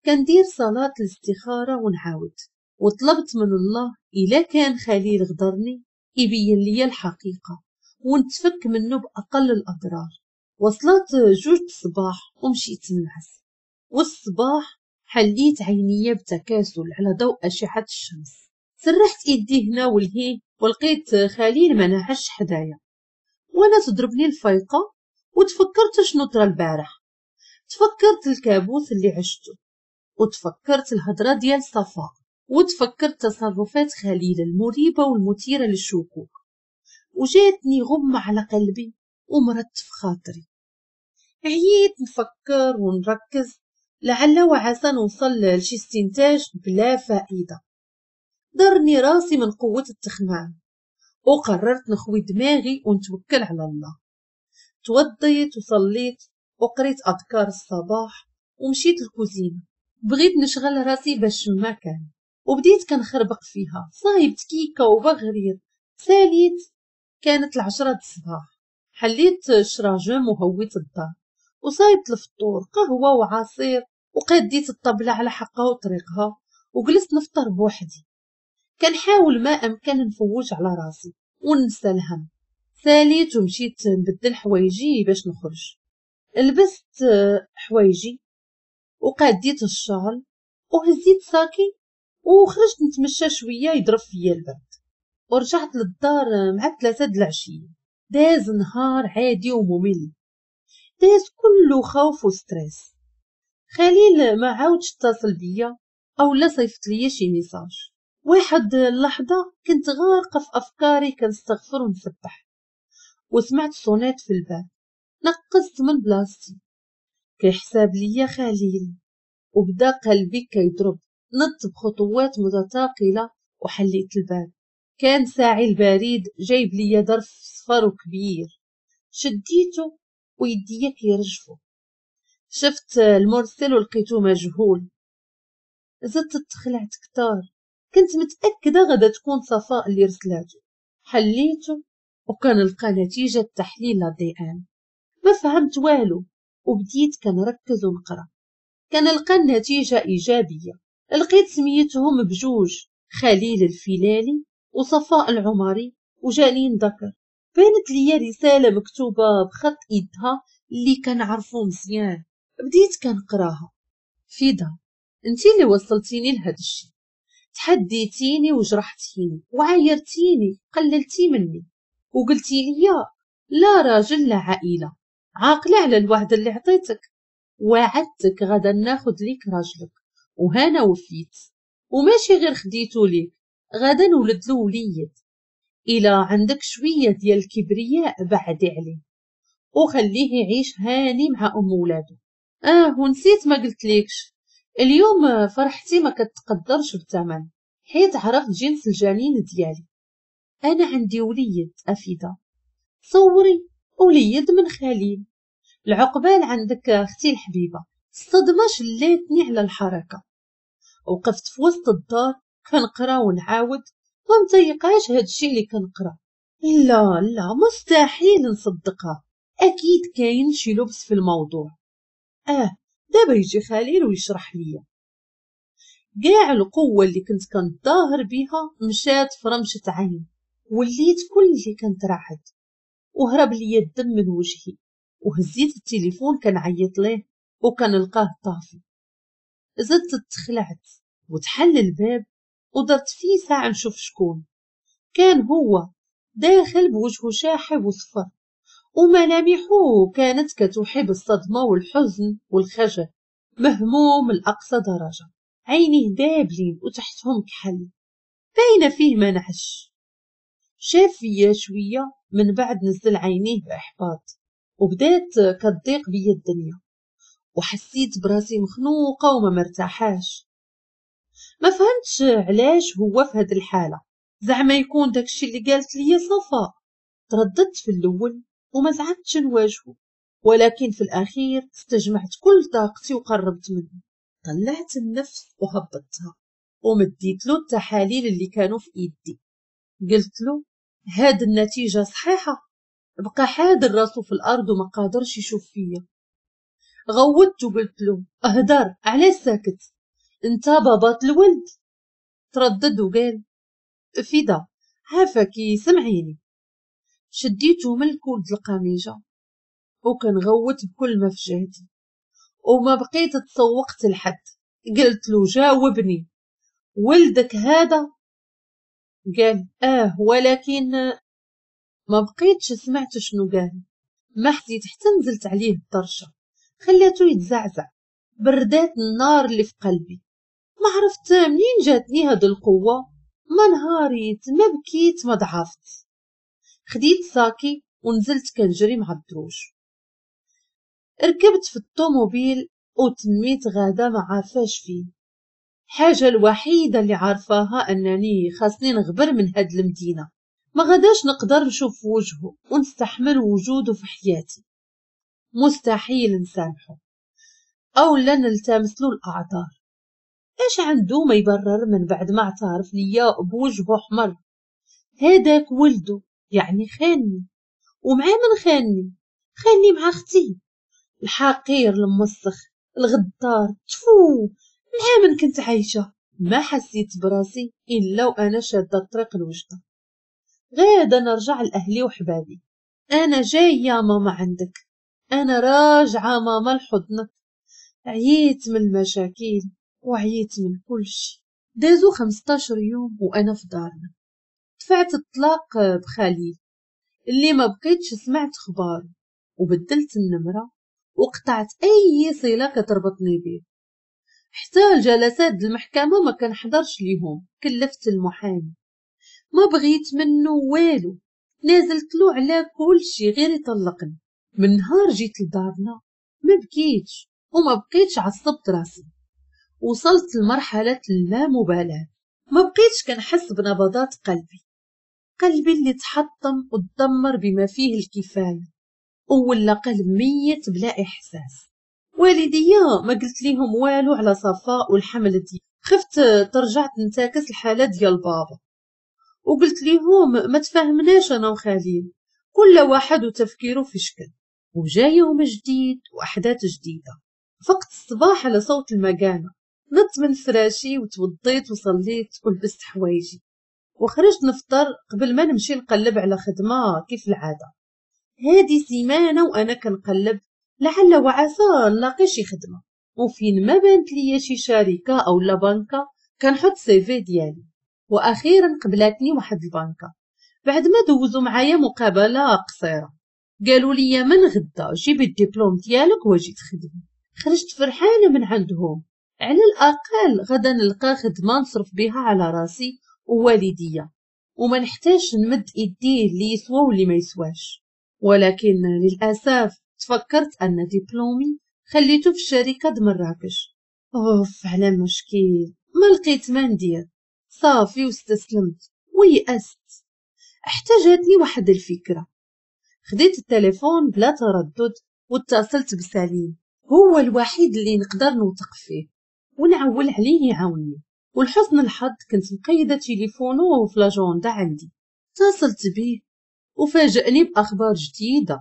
كندير صلاة الاستخارة ونعاود، وطلبت من الله الا كان خليل غدرني يبين لي الحقيقة ونتفك منه باقل الاضرار. وصلت جوج الصباح ومشيت نعس، والصباح حليت عينيا بتكاسل على ضوء اشعه الشمس. سرحت ايدي هنا ولهيه ولقيت خليل ما نعش حدايا، وانا تضربني الفايقه وتفكرت شنو طرا البارح، تفكرت الكابوس اللي عشته، وتفكرت الهضرة ديال صفاء، وتفكرت تصرفات خليل المريبه والمثيره للشكوك، وجاتني غمه على قلبي ومرضت في خاطري. عييت نفكر ونركز لعل وعسى نوصل لشي استنتاج بلا فائدة. ضرني راسي من قوة التخمام وقررت نخوي دماغي ونتوكل على الله. توضيت وصليت وقريت اذكار الصباح ومشيت للكوزينه، بغيت نشغل راسي باش ما كان، وبديت كنخربق فيها. صايبت كيكة وبغرير. ساليت كانت العشرة الصباح. حليت الشراجم وهويت الدار وصايبت الفطور، قهوة وعصير، وقديت الطبلة على حقها وطريقها، وجلست نفطر بوحدي. كنحاول ما امكن نفوج على راسي وننسى الهم. ساليت ومشيت نبدل حوايجي باش نخرج. لبست حوايجي وقاديت الشال وهزيت ساكي وخرجت نتمشى شوية يضرب فيا البرد، ورجعت للدار مع ثلاثة د العشية. داز نهار عادي وممل، داز كله خوف و stress. خليل ما عاودش اتصل بيا او لا صيفط ليا شي message. واحد اللحظة كنت غارقة في افكاري كنستغفر ونسبح، وسمعت sonnette في الباب. نقزت من بلاصتي، كيحساب ليا خليل، وبدا قلبي كيضرب. نط بخطوات متثاقله وحليت الباب. كان ساعي البريد جايب ليا ظرف صفر وكبير. شديته ويديا كيرجفوا. شفت المرسل ولقيته مجهول. زدت تخلعت كتار، كنت متأكدة غدا تكون صفاء اللي رسلاته. حليته وكان لقى نتيجة تحليل ADN. ما فهمت والو وبديت كنركز ونقرا. كنلقى النتيجة إيجابية. لقيت سميتهم بجوج، خليل الفيلالي وصفاء العمري وجالين ذكر. بانت ليا رسالة مكتوبة بخط إيدها اللي كنعرفو مزيان. بديت كنقراها. فيدا، انتي اللي وصلتيني لهاد الشي، تحديتيني وجرحتيني وعايرتيني، قللتي مني وقلتي لي لا راجل لا عائلة. عاقلة على الوعد اللي عطيتك، وعدتك غدا ناخد ليك راجلك، وهانا وفيت. وماشي غير خديتو ليك، غدا نولد له وليد. إلا عندك شوية ديال الكبرياء بعدي عليه وخليه يعيش هاني مع أم ولادو. آه ونسيت ما قلت ليكش، اليوم فرحتي ما كتقدرش بثمن، حيت عرفت جنس الجنين ديالي. أنا عندي وليد أفيدة، صوري وليد من خليل. العقبال عندك أختي الحبيبة. الصدمة شلاتني على الحركة. وقفت في وسط الدار كنقرا ونعاود، ما متيقاش هادشي اللي كنقرا. لا لا مستحيل نصدقها، اكيد كاين شي لبس في الموضوع. اه دابا يجي خليل ويشرح ليا. كاع القوة اللي كنت كنتظاهر بها مشات في رمشه عين، وليت كل اللي كنترعد، وهرب ليا الدم من وجهي. وهزيت التليفون كنعيط ليه وكنلقاه طافي. زدت تخلعت وتحل الباب ودرت فيه ساعة نشوف شكون. كان هو داخل بوجهه شاحب وصفر، وملامحه كانت كتوحي بالصدمة والحزن والخجل، مهموم لأقصى درجة. عينيه دابلين وتحتهم كحل، باينة فيه ما نعش. شاف فيا شوية من بعد نزل عينيه بإحباط، وبدات كتضيق بيا الدنيا، وحسيت براسي مخنوقة وما مرتاحاش. ما فهمتش علاش هو في هاد الحالة، زعما يكون داكشي اللي قالت لي صفاء. ترددت في الأول وما زعمتش نواجهه، ولكن في الأخير استجمعت كل طاقتي وقربت منه. طلعت النفس وهبطتها ومديت له التحاليل اللي كانوا في ايدي. قلت له هاد النتيجة صحيحة. بقى حادر راسه في الأرض وما قادرش يشوف فيا. غوتت وقلت له اهدر، علاش ساكت؟ انت بابات الولد. تردد وقال فدا عافاكي سمعيني. شديته من الكول د القميجة وكنغوت بكل ما في جهدي، وما بقيت تسوقت لحد. قلت له جاوبني، ولدك هذا؟ قال اه، ولكن ما بقيتش سمعت شنو قال. ما حسيت حتى نزلت عليه الطرشه، خليته يتزعزع. بردات النار اللي في قلبي. ما عرفت منين جاتني هاد القوة، ما نهاريت ما بكيت ما ضعفت. خديت ساكي ونزلت كنجري مع الدروج. ركبت في الطوموبيل وتميت غاده ما عارفاش فين. الحاجة الوحيدة اللي عارفاها انني خاصني نغبر من هاد المدينة، ما غاداش نقدر نشوف وجهه ونستحمل وجوده في حياتي. مستحيل نسامحه او لا نلتمس له الاعذار. اش عنده ما يبرر من بعد ما اعترف ليا بوجهه احمر؟ هذاك ولده يعني خاني، ومع من خاني؟ خاني مع اختي الحقير المسخ الغدار. تفو، مع من كنت عايشه؟ ما حسيت براسي الا وانا شاده الطريق الوجده، غادا نرجع لاهلي وحبابي. انا جاية ماما عندك، انا راجعه ماما لحضنك. عييت من المشاكل وعييت من كل شيء. دازو خمسطاش يوم وانا في دارنا. دفعت الطلاق بخليل اللي ما بقيتش سمعت خباره، وبدلت النمرة وقطعت اي صله كتربطني به. حتى الجلسات المحكمة ما كنحضرش ليهم، كلفت المحامي، ما بغيت منه والو، نازلت له على كل شيء غير يطلقني. من نهار جيت لدارنا ما بكيتش وما بقيتش عصبت راسي، وصلت لمرحلة اللامبالاة. ما بقيتش كنحس بنبضات قلبي، قلبي اللي تحطم وتدمر بما فيه الكفاية، ولا قلب ميت بلا احساس. والديا ما قلت ليهم والو على صفاء والحمل دي، خفت ترجع تنتكس الحالة ديال بابا، وقلت ليهم ما تفاهمناش انا وخليل، كل واحد وتفكيره في شكل. وجا يوم جديد واحداث جديدة. فقت الصباح على صوت المكانة، نضت من فراشي وتوضيت وصليت ولبست حوايجي وخرجت نفطر قبل ما نمشي نقلب على خدمة كيف العادة. هادي سيمانه وانا كنقلب لعل وعسى نلاقي شي خدمة، وفين ما بانت ليا شي شركة او لا بنكه كنحط CV ديالي. واخيرا قبلاتني واحد البنكه بعد ما دوزوا معايا مقابله قصيرة. قالوا لي من غدا جيبي الدبلوم ديالك واجي تخدمي. خرجت فرحانة من عندهم، على الاقل غدا نلقى خدمة نصرف بها على راسي ووالديا، وما نحتاجش نمد ايدي اللي يسوى واللي ما يسواش. ولكن للاسف تفكرت ان دبلومي خليته في الشركة د مراكش. اوف على مشكل، ما لقيت ما ندير، صافي واستسلمت ويأست. حتى جاتني واحد الفكرة، خديت التليفون بلا تردد واتصلت بسليم، هو الوحيد اللي نقدر نوثق فيه ونعول عليه يعاونني. ولحسن الحظ كنت مقيده تليفونه في l'agenda عندي. اتصلت به وفاجأني باخبار جديدة.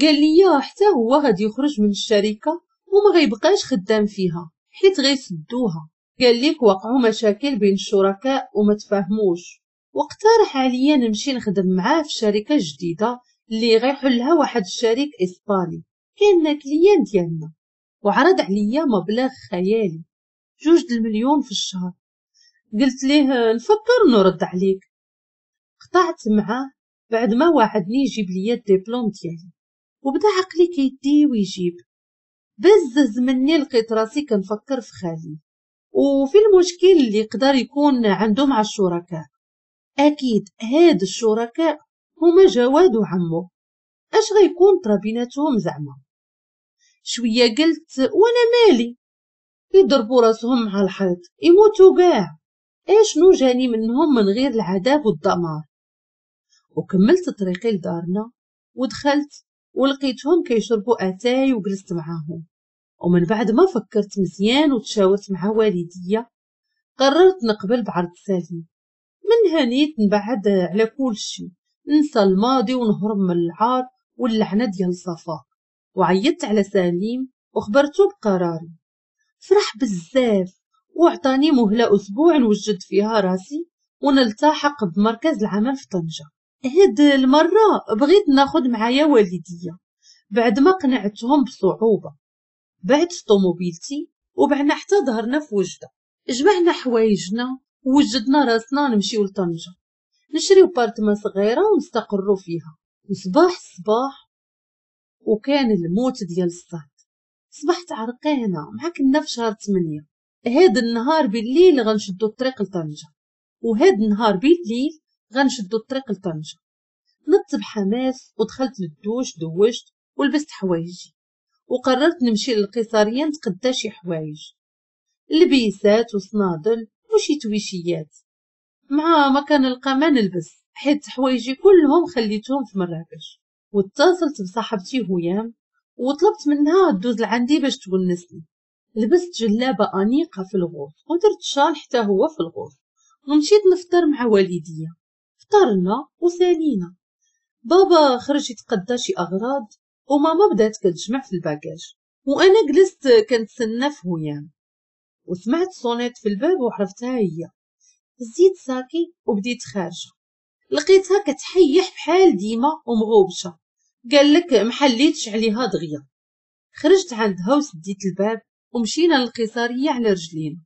قال لي حتى هو غادي يخرج من الشركة وما غيبقاش خدام فيها حيت غيسدوها. قال لك وقعوا مشاكل بين الشركاء وما تفاهموش، واقترح عليا نمشي نخدم معاه في شركة جديدة اللي غيحلها واحد الشريك اسباني كان client ديالنا، وعرض عليا مبلغ خيالي جوج المليون في الشهر. قلت ليه نفكر نرد عليك. قطعت معاه بعد ما وعدني يجيب لي الدبلوم ديالي، وبدا عقلي كيدي ويجيب. بزز مني لقيت راسي كنفكر في خالي وفي المشكل اللي يقدر يكون عنده مع الشركاء. اكيد هاد الشركاء هما جواد وعمو، اش غيكون طرا بيناتهم زعما؟ شوية قلت وانا مالي، يضربوا راسهم مع الحيط يموتوا كاع، اشنو جاني منهم من غير العذاب والدمار؟ وكملت طريقي لدارنا ودخلت ولقيتهم كيشربوا اتاي وجلست معاهم. ومن بعد ما فكرت مزيان وتشاورت مع والديا قررت نقبل بعرض سليم. من هنيت نبعد على كل شيء، ننسى الماضي ونهرب من العار واللعنة ديال صفاء. وعيطت على سليم وخبرته بقراري. فرح بزاف وعطاني مهله اسبوع نوجد فيها راسي ونلتحق بمركز العمل في طنجه. هاد المرة بغيت ناخد معايا والديا بعد ما قنعتهم بصعوبة. بعت طوموبيلتي وبعنا حتى ظهرنا في وجده، جمعنا حوايجنا ووجدنا راسنا نمشيو لطنجه نشريو بارتما صغيرة ونستقروا فيها. وصباح الصباح وكان الموت ديال الصهد، صبحت عرقانه مع كنا في شهر ثمانية. هاد النهار بالليل غنشدو الطريق لطنجه، وهاد النهار بالليل غنشدو الطريق لطنجه. نضت بحماس ودخلت للدوش، دوشت ولبست حوايجي وقررت نمشي للقيصريه نتقدى شي حوايج، لبيسات وصنادل وشي تويشيات، مع ما كان نلقى ما نلبس حيت حوايجي كلهم خليتهم في مراكش. واتصلت بصاحبتي هيام وطلبت منها تدوز لعندي باش تونسني. لبست جلابه انيقه في ال rose ودرت شال حتى هو في ال rose، ومشيت نفطر مع والديا. فطرنا وسالينا، بابا خرج يتقدى شي اغراض وماما بدات كتجمع في ال bagage، وانا جلست كنتسنى في هيام. وسمعت sonnette في الباب وعرفتها هي. هزيت ساكي وبديت خارجه، لقيتها كتحيح بحال ديما ومغوبشه، قال لك محليتش عليها دغيا. خرجت عندها وسديت الباب ومشينا للقيصريه على رجلينا.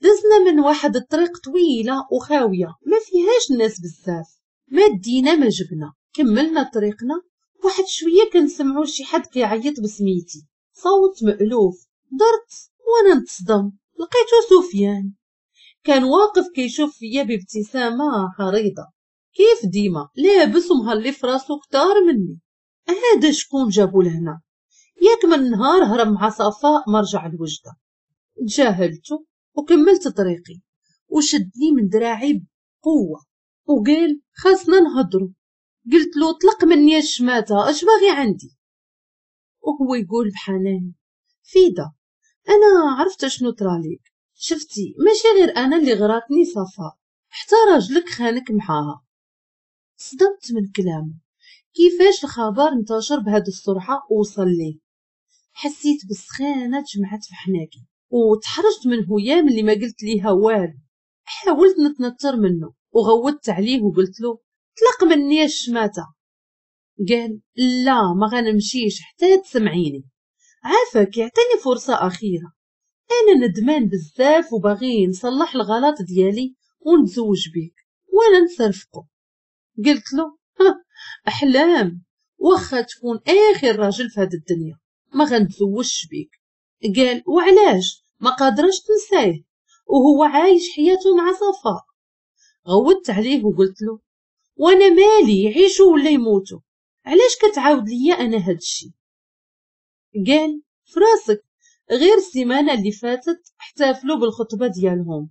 دزنا من واحد الطريق طويلة وخاويه ما فيهاش الناس بزاف، ما دينا ما جبنا. كملنا طريقنا، واحد شوية كنسمعوا شي حد كيعيط بسميتي، صوت مألوف. درت وانا نتصدم، لقيتو سفيان. كان واقف كيشوف فيا بابتسامة عريضة كيف ديما، لابس ومهلي في راسو كتار مني. هذا شكون جابو لهنا؟ ياك من نهار هرب مع صفاء ما رجع لوجده. تجاهلته وكملت طريقي، وشدني من دراعي بقوة وقال خاصنا نهضرو. قلت له طلق مني الشماته، اش باغي عندي؟ وهو يقول بحنان فيدا انا عرفت شنو طراليك، شفتي ماشي غير انا اللي غراتني صفاء، حتى راجلك خانك معاها. صدمت من كلامه، كيفاش الخبر انتشر بهذه السرعة ووصل ليه؟ حسيت بالسخانه تجمعت في حناكي وتحرجت من هيام اللي ما قلت ليها والو. حاولت نتنتر منه وغوتت عليه وقلت له طلق مني الشماته. قال لا ما غنمشيش حتى تسمعيني، عافاك يعطيني فرصة اخيرة، انا ندمان بزاف وباغي نصلح الغلط ديالي ونتزوج بيك وانا نصرفقو. قلت له احلام، واخا تكون اخر راجل في هاد الدنيا ما غنتزوجش بيك. قال وعلاش ما قادرش تنساه وهو عايش حياته مع صفاء؟ غوتت عليه وقلت له وانا مالي يعيشوا ولا يموتوا، علاش كتعاود ليا انا هادشي؟ قال فراسك غير السيمانة اللي فاتت احتفلوا بالخطبة ديالهم،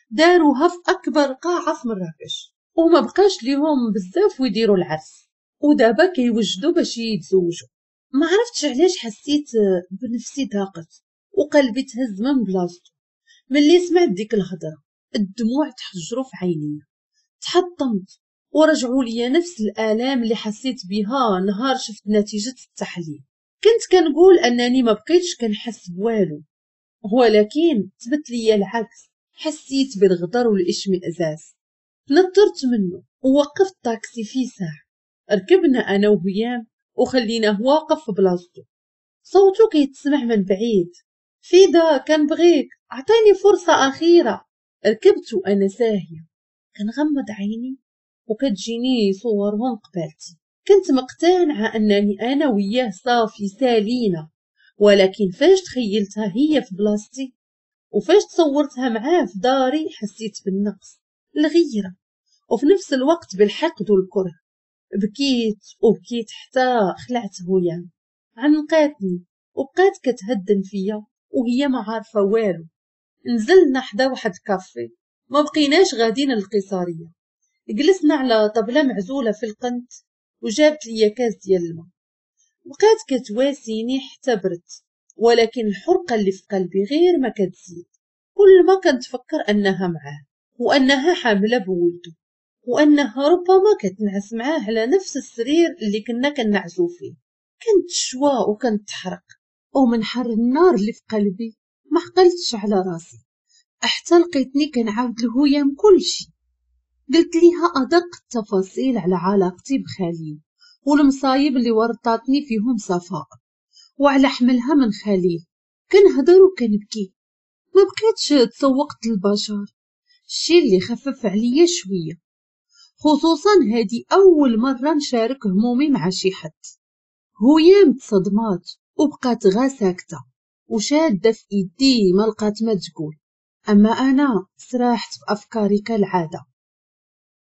داروها في اكبر قاعة في مراكش وما بقاش ليهم بزاف ويديروا العرس، ودابا كيوجدوا باش يتزوجوا. ما عرفتش علاش حسيت بنفسي ضاقت وقلبي تهز من بلاصتو ملي سمعت ديك الهضرة. الدموع تحجروا في عيني، تحطمت ورجعوا لي نفس الآلام اللي حسيت بها نهار شفت نتيجة التحليل. كنت كنقول انني ما بقيتش كنحس بوالو، ولكن ثبت لي العكس. حسيت بالغدر والاشمئزاز، تنطرت منه ووقفت طاكسي في ساعة. ركبنا انا وهيام وخليناه واقف في بلاصتو، صوتو كيتسمع من بعيد، فيدا كنبغيك، عطيني فرصة اخيرة. ركبت وانا ساهيه كنغمض عيني وكتجيني صورهم قبالتي. كنت مقتنعة انني انا وياه صافي سالينا، ولكن فاش تخيلتها هي في بلاصتي وفاش تصورتها معاه في داري حسيت بالنقص، الغيرة، وفي نفس الوقت بالحقد والكره. بكيت وبكيت حتى خلعت هيام. عنقاتني وبقات كتهدن فيا وهي ما عارفه والو. نزلنا حدا واحد الكافي، ما بقيناش غاديين للقيصريه. جلسنا على طبله معزولة في القنت وجابت لي كاس ديال الماء. بقات كتواسيني حتى برت، ولكن الحرقة اللي في قلبي غير ما كتزيد. كل ما كنتفكر انها معاه وانها حامله بولده وانها ربما كتنعس معاه على نفس السرير اللي كنا كنعسو فيه، كنت شوا وكنت تحرق، ومن حر النار اللي في قلبي ما عقلتش على راسي حتى لقيتني كنعاود لهيام كلشي. قلت ليها ادق التفاصيل على علاقتي بخليل والمصايب اللي ورطاتني فيهم صفاء وعلى حملها من خليل. كنهضر وكنبكي، ما بقيتش تسوقت للبشر، الشي اللي خفف عليا شوية، خصوصا هادي اول مرة نشارك همومي مع شي حد. هيام تصدمات وبقات غا ساكته وشاده في ايدي ما لقات ما تقول. اما انا سرحت في افكاري كالعادة،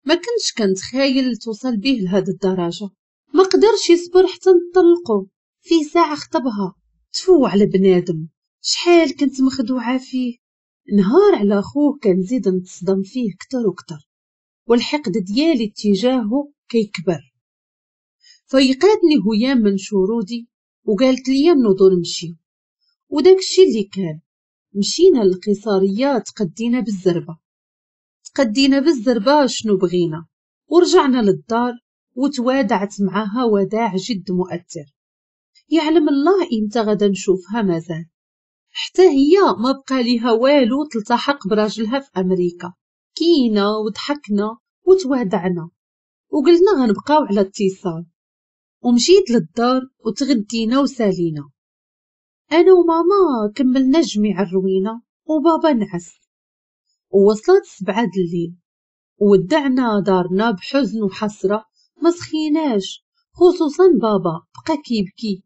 ما كنتش كنتخايل توصل به لهاد الدرجة. ما قدرش يصبر حتى نطلقو في ساعة خطبها. تفو على بنادم، شحال كنت مخدوعه فيه. نهار على خوه كنزيد نتصدم فيه كتر وكتر، والحقد ديالي اتجاهه كيكبر. فيقاتني هيام من شرودي وقالت لي نوضو نمشيو، وداك الشي اللي كان. مشينا للقيصرية تقدينا بالزربة، تقدينا بالزربة شنو بغينا، ورجعنا للدار وتوادعت معاها وداع جد مؤثر. يعلم الله امتى غدا نشوفها مازال، حتى هي ما بقى ليها والو تلتحق براجلها في امريكا. كينا وضحكنا وتوادعنا وقلنا غنبقاو على اتصال. ومشيت للدار وتغدينا وسالينا، انا وماما كملنا جميع الروينه وبابا نعس. ووصلت سبعة د الليل وودعنا دارنا بحزن وحسره، ما سخيناش، خصوصا بابا بقى كيبكي،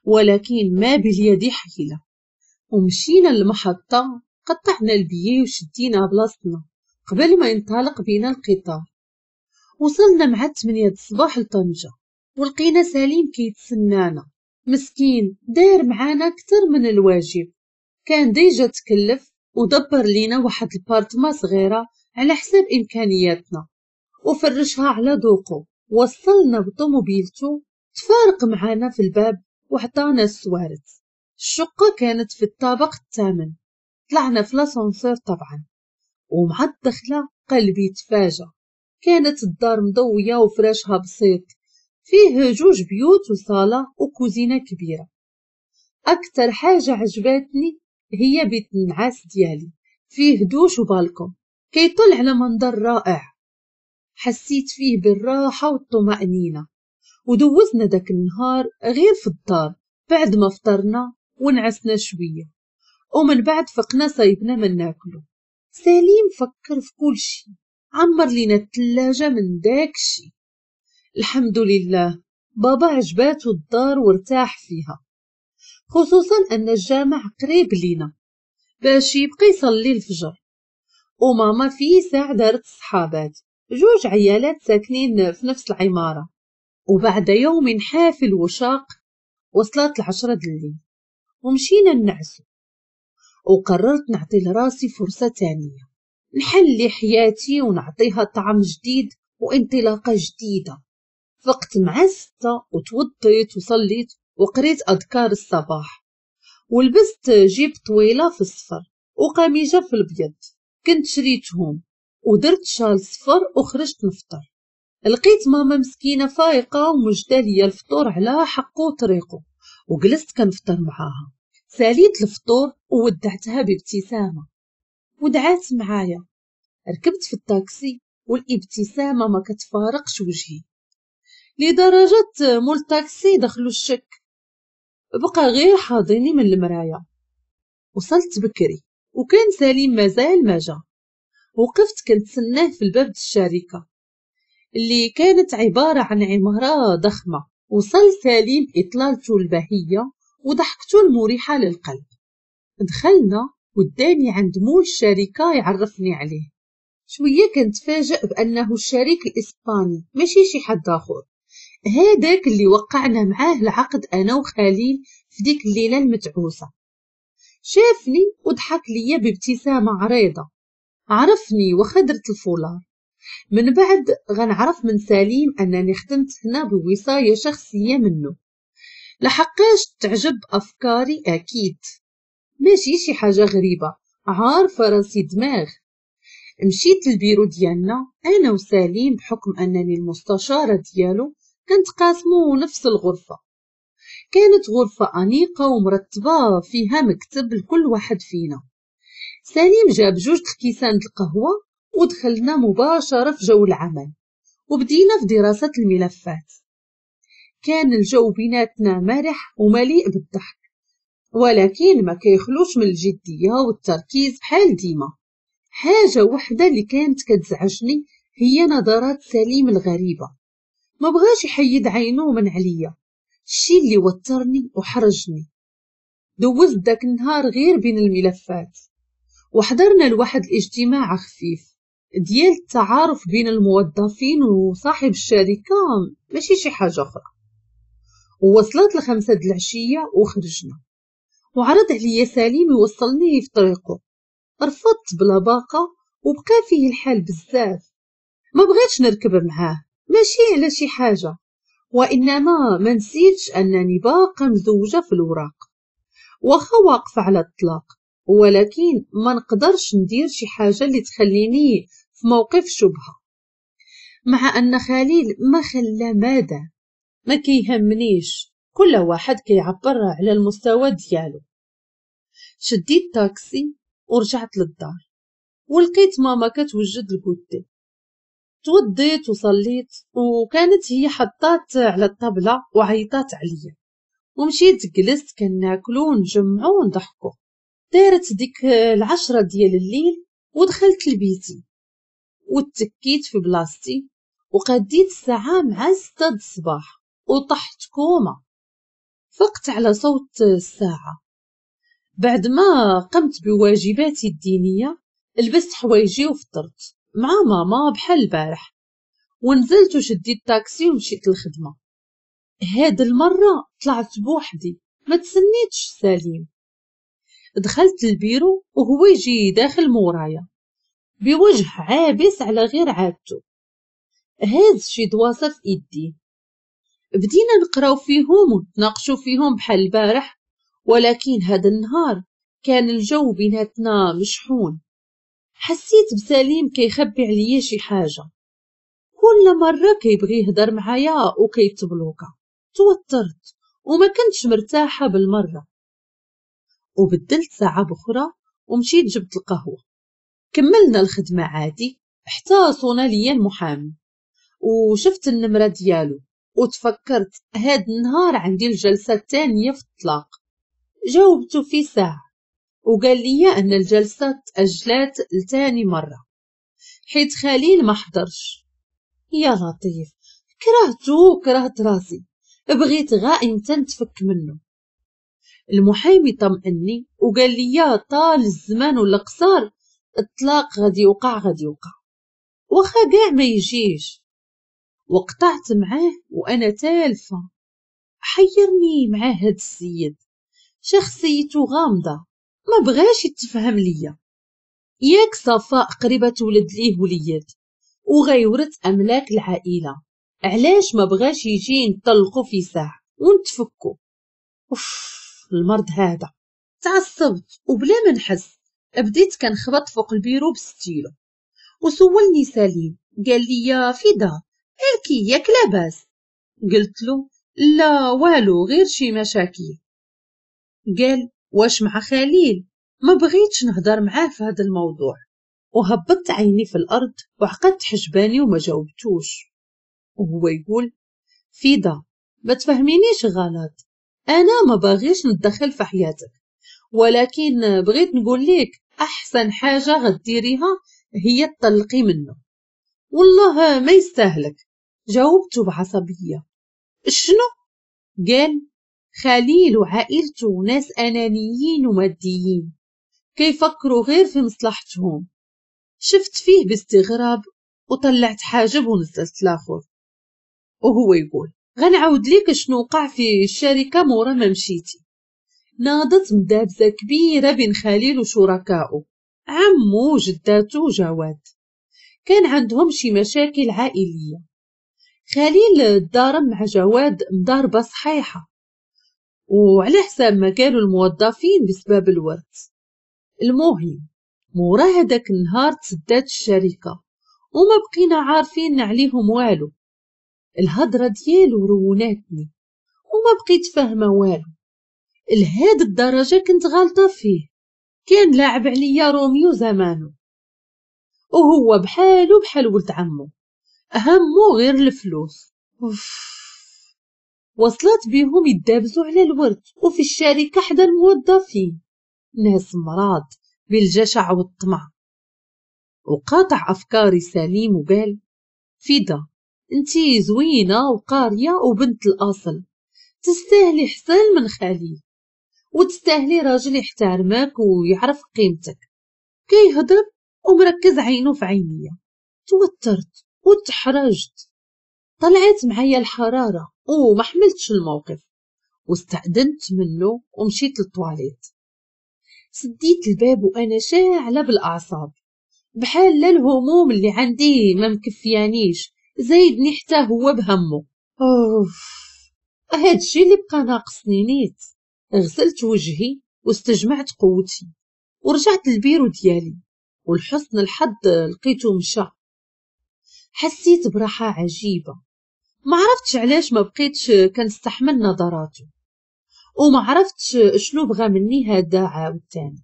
ولكن ما باليد حيله. ومشينا للمحطه، قطعنا البيي وشدينا بلاصتنا قبل ما ينطلق بينا القطار. وصلنا مع ثمانية الصباح لطنجة ولقينا سليم كيتسنانا. مسكين داير معانا اكثر من الواجب، كان déjà تكلف ودبر لينا واحد البارتما صغيرة على حساب امكانياتنا وفرشها على ذوقه. وصلنا بطوموبيلتو، تفارق معانا في الباب وعطانا السوارت. الشقة كانت في الطابق الثامن، طلعنا في l'ascenseur طبعا، ومع الدخلة قلبي تفاجأ. كانت الدار مضويه وفراشها بسيط، فيه جوج بيوت وصالة وكوزينة كبيرة. أكثر حاجة عجبتني هي بيت النعاس ديالي، فيه دوش وبالكون كيطل على منظر رائع. حسيت فيه بالراحة والطمأنينة. ودوزنا داك النهار غير في الدار بعد ما فطرنا ونعسنا شوية، ومن بعد فقنا صايبنا من ناكلو. سليم فكر في كل شي، عمر لينا الثلاجة من داك الشي. الحمد لله بابا عجباتو الدار وارتاح فيها، خصوصا ان الجامع قريب لينا باش يبقى يصلي الفجر. وماما في ساعة دارت الصحابات، جوج عيالات ساكنين في نفس العمارة. وبعد يوم حافل وشاق وصلت العشرة د الليل ومشينا نعسو. وقررت نعطي لراسي فرصة تانية، نحلي حياتي ونعطيها طعم جديد وانطلاقة جديدة. فقت مع ستة وتوضيت وصليت وقريت أذكار الصباح، ولبست جيب طويلة في الصفر وقميجة في الأبيض كنت شريتهم، ودرت شال صفر وخرجت نفطر. لقيت ماما مسكينة فايقة ومجدة ليا الفطور على حقه وطريقه، وجلست كنفطر معاها. ساليت الفطور وودعتها بابتسامة ودعات معايا. ركبت في الطاكسي والابتسامة ما كتفارقش وجهي، لدرجة مول الطاكسي دخلو الشك، بقى غير حاضيني من المراية. وصلت بكري وكان سليم مازال ما جا. وقفت كنتسناه في الباب الشركة اللي كانت عبارة عن عمارة ضخمة. وصل سليم بإطلالته البهية وضحكته المريحة للقلب. دخلنا وداني عند مول الشركة يعرفني عليه. شوية كنتفاجئ بأنه الشريك الإسباني ماشي شي حد آخر، هذاك اللي وقعنا معاه العقد أنا وخليل في ديك الليلة المتعوسة. شافني وضحك ليا بابتسامة عريضة، عرفني وخدرت الفولار. من بعد غنعرف من سليم أنني خدمت هنا بوصاية شخصية منه، لحقاش تعجب أفكاري أكيد، ماشي شي حاجة غريبة، عارفة راسي دماغ. مشيت للبيرو ديالنا أنا وسليم بحكم أنني المستشارة ديالو، كنتقاسمو نفس الغرفة. كانت غرفة أنيقة ومرتبة فيها مكتب لكل واحد فينا. سليم جاب جوج الكيسان القهوة ودخلنا مباشرة في جو العمل وبدينا في دراسة الملفات. كان الجو بيناتنا مرح ومليء بالضحك، ولكن ما كيخلوش من الجدية والتركيز بحال ديما. حاجة وحدة اللي كانت كتزعجني هي نظرات سليم الغريبة، ما بغاش يحيد عينه من عليا، الشي اللي وترني وحرجني. دوزت داك النهار غير بين الملفات، وحضرنا لواحد الاجتماع خفيف ديال التعارف بين الموظفين وصاحب الشركة، ماشي شي حاجة أخرى. ووصلت لخمسة د العشية وخرجنا، وعرض عليا سليم يوصلني في طريقه. رفضت بلا باقة وبقى فيه الحال بزاف، ما بغيتش نركب معاه ماشي على شي حاجة، وإنما ما نسيتش أنني باقة مزوجة في الوراق واخا واقفة على الطلاق، ولكن ما نقدرش ندير شي حاجة اللي تخليني في موقف شبهة. مع أن خليل ما خلى ماذا، ما كيهمنيش، كل واحد كيعبر على المستوى ديالو. شديت تاكسي ورجعت للدار ولقيت ماما كتوجد ال goûter. توضيت وصليت وكانت هي حطات على الطبلة وعيطات عليا، ومشيت جلست كناكلو ونجمعو ونضحكو. دارت ديك العشرة ديال الليل ودخلت لبيتي وتكيت في بلاصتي وقديت الساعة مع ستة الصباح وطحت كوما. فقت على صوت الساعة. بعد ما قمت بواجباتي الدينية لبست حوايجي وفطرت مع ماما بحال البارح، ونزلت وشديت تاكسي ومشيت للخدمة. هاد المرة طلعت بوحدي، ما تسنيتش سليم. دخلت البيرو وهو يجي داخل مورايا بوجه عابس على غير عادته، هاز شي دواسة في ايديه. بدينا نقراو فيهم ونتناقشوا فيهم بحال البارح، ولكن هذا النهار كان الجو بيناتنا مشحون. حسيت بسليم كيخبي عليا شي حاجة، كل مرة كيبغي يهضر معايا وكيتبلوكا. توترت وما كنتش مرتاحة بالمرة، وبدلت ساعة بأخرى ومشيت جبت القهوة. كملنا الخدمة عادي حتى صونا ليا المحامي وشفت النمرة ديالو وتفكرت هاد النهار عندي الجلسة الثانية في الطلاق. جاوبته في ساعة وقال لي أن الجلسة تأجلات لتاني مرة حيت خليل ما حضرش. يا لطيف، كرهته وكرهت راسي، بغيت غا امتى نتفك منه. المحامي طمئني وقال لي طال الزمان ولا قصار الطلاق غادي يوقع غادي يوقع، واخا كاع ما يجيش. وقطعت معاه وانا تالفه. حيرني معاه هاد السيد، شخصيته غامضة ما بغاش يتفهم ليا. ياك صفاء قريبه تولد ليه وليد وغيورث املاك العائلة، علاش ما بغاش يجي نطلقو في ساعة ونتفكو؟ اوف المرض هذا. تعصبت وبلا ما نحس بديت كنخبط فوق ال bureau ب stylo. وسولني سليم قال لي يا فدا مالكي ياك لاباس؟ قلت له لا والو غير شي مشاكل. قال واش مع خليل؟ ما بغيتش نهضر معاه في هذا الموضوع. وهبطت عيني في الارض وعقدت حجباني وما جاوبتوش. وهو يقول فيدا ما تفهمينيش غلط، انا ما باغيش نتدخل في حياتك، ولكن بغيت نقول لك احسن حاجة غديريها هي تطلقي منه، والله ما يستاهلك. جاوبته بعصبيه شنو؟ قال خليل وعائلته ناس انانيين وماديين كيفكروا غير في مصلحتهم. شفت فيه باستغراب وطلعت حاجب ونزلت لاخر. وهو يقول غنعاود ليك شنو وقع في الشركة مورا ما مشيتي. ناضت مدابزه كبيرة بين خليل وشركائه، عمو وجداتو وجواد، كان عندهم شي مشاكل عائلية. خليل ضارب مع جواد مضاربة صحيحه، وعلى حساب ما قالوا الموظفين بسبب الورث. المهم مورا هذاك النهار تسدات الشركة وما بقينا عارفين عليهم والو. الهضرة ديالو روناتني وما بقيت فاهمه والو. لهاد الدرجة كنت غالطه فيه، كان لاعب عليا روميو زمانه، وهو بحالو بحال ولد عمو، همو غير الفلوس. أوف. وصلت بيهم يدابزوا على الورث وفي الشركة حدا الموظفين، ناس مراض بالجشع والطمع. وقاطع افكاري سليم وقال فدا انتي زوينة وقاريه وبنت الاصل، تستاهلي حسن من خليل، وتستاهلي راجل يحترمك ويعرف قيمتك. كيهضر ومركز عينه في عينيا. توترت وتحرجت، طلعت معايا الحرارة وما حملتش الموقف، واستأذنت منه ومشيت للطواليت. سديت الباب وانا شاعله بالاعصاب، بحال لا الهموم اللي عندي ما مكفيانيش، زايدني حتى هو بهمه. اوف هادشي اللي بقى ناقصني نيت. غسلت وجهي واستجمعت قوتي ورجعت للبيرو ديالي، ولحسن الحظ لقيته مشى. حسيت براحة عجيبة، ما عرفتش علاش ما بقيتش كنستحمل نظراته، وما عرفتش شنو بغى مني هذا عاوتاني.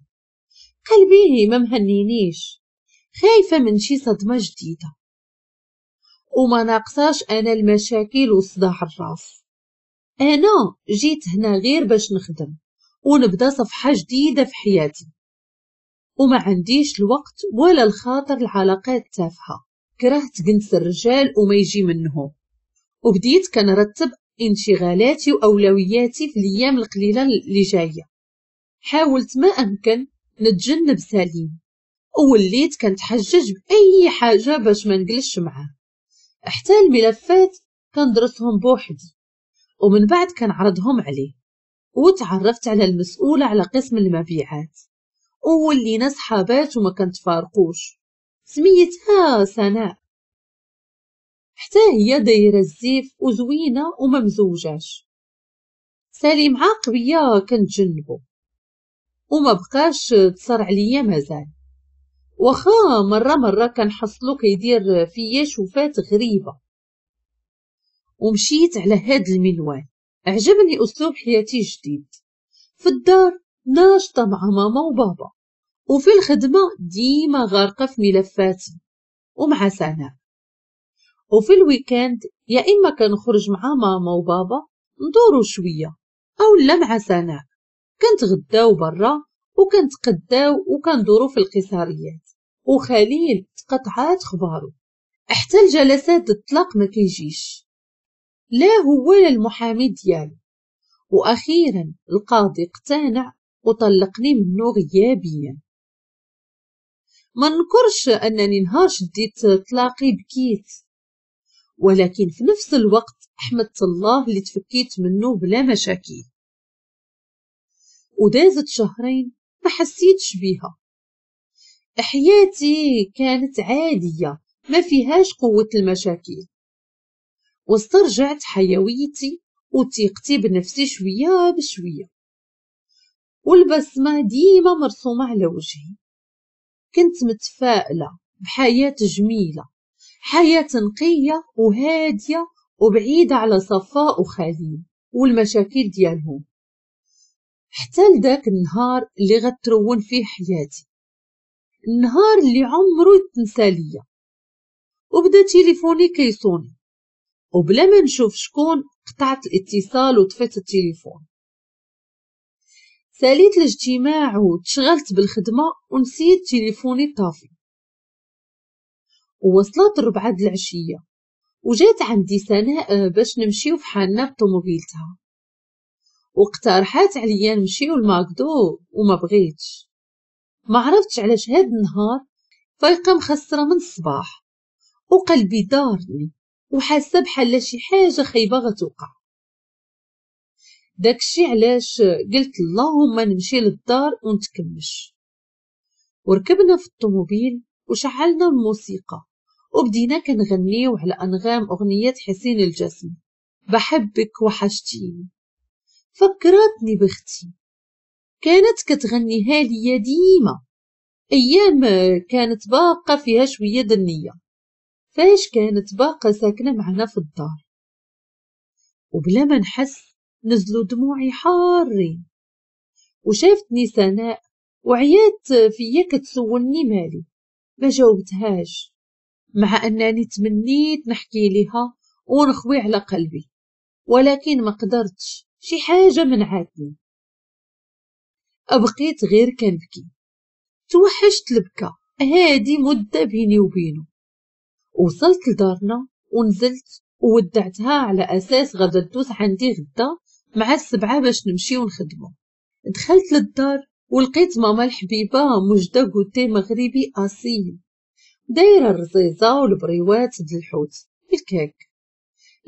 قلبي ما مهنينيش، خايفة من شي صدمة جديدة، وما ناقصاش أنا المشاكل وصداع الراس. أنا جيت هنا غير باش نخدم ونبدا صفحة جديدة في حياتي، وما عنديش الوقت ولا الخاطر العلاقات تافهة. كرهت جنس الرجال وما يجي منهم، وبديت كنرتب انشغالاتي وأولوياتي في الأيام القليلة اللي جاية. حاولت ما أمكن نتجنب سليم، ووليت كنتحجج بأي حاجة باش ما نجلسش معاه. حتى الملفات كندرسهم بوحدي ومن بعد كنعرضهم عليه. وتعرفت على المسؤولة على قسم المبيعات وولينا صحابات وما كنتفارقوش. سميتها سناء، حتى هي دايرة الزيف وزوينه وما مزوجاش. سليم عاق بيا كنتجنبو وما بقاش تصر عليا مازال، واخا مرة مرة كنحصلو كيدير فيا شوفات غريبة. ومشيت على هاد المنوال. عجبني اسلوب حياتي الجديد. في الدار ناشطة مع ماما وبابا، وفي الخدمة ديما غارقة في ملفاتي ومع سناء. وفي ال week-end يا اما كنخرج مع ماما وبابا ندورو شوية او لا مع سناء، كنتغداو برا وكنتقداو وكندورو في القصاريات. وخليل تقطعات خبارو، حتى الجلسات الطلاق ما كيجيش، لا هو ولا المحامي ديالو. واخيرا القاضي اقتنع وطلقني منه غيابيا. ما نكرش انني نهار شديت طلاقي بكيت، ولكن في نفس الوقت حمدت الله اللي تفكيت منه بلا مشاكل. ودازت شهرين ما حسيتش بيها. حياتي كانت عادية ما فيهاش قوة المشاكل، واسترجعت حيويتي وثقتي بنفسي شوية بشوية، والبسمة ديما مرسومة على وجهي. كنت متفائلة بحياة جميلة، حياة نقية وهادية وبعيدة على صفاء وخليل والمشاكل ديالهم، حتى لذاك النهار اللي غترون فيه حياتي، النهار اللي عمره يتنسى ليا. وبدا تليفوني كيصوني، وبلا ما نشوف شكون قطعت الاتصال وطفيت التليفون. ساليت الاجتماع وتشغلت بالخدمة ونسيت تليفوني طافي. ووصلت الربعة د العشية وجات عندي سناء باش نمشيو في حالنا بطوموبيلتها، واقترحات عليا نمشيو لماكدو وما بغيتش. ما عرفتش علاش هاد النهار فايقه مخسره من الصباح وقلبي دارني وحاسه بحال شي حاجة خايبة غتوقع. داكشي علاش قلت اللهم نمشي للدار ونتكمش. وركبنا في الطوموبيل وشعلنا الموسيقى وبدينا كنغنيو على انغام اغنية حسين الجسمي بحبك وحشتيني. فكرتني بختي، كانت كتغنيها ليا ديما ايام كانت باقه فيها شوية دنيه، فاش كانت باقه ساكنة معنا في الدار. وبلا ما نحس نزلوا دموعي حارين. وشافتني سناء وعيات فيا كتسولني مالي، ما جاوبتهاش مع انني تمنيت نحكي لها ونخوي على قلبي، ولكن ما قدرتش، شي حاجة منعتني. بقيت غير كنبكي، توحشت البكا هادي مده بيني وبينه. وصلت لدارنا ونزلت وودعتها على اساس غدا تدوز عندي غدا مع السبعة باش نمشيو نخدمو. دخلت للدار ولقيت ماما الحبيبة مجده goûter مغربي اصيل، دايرة الرزيزه والبريوات د الحوت الكيك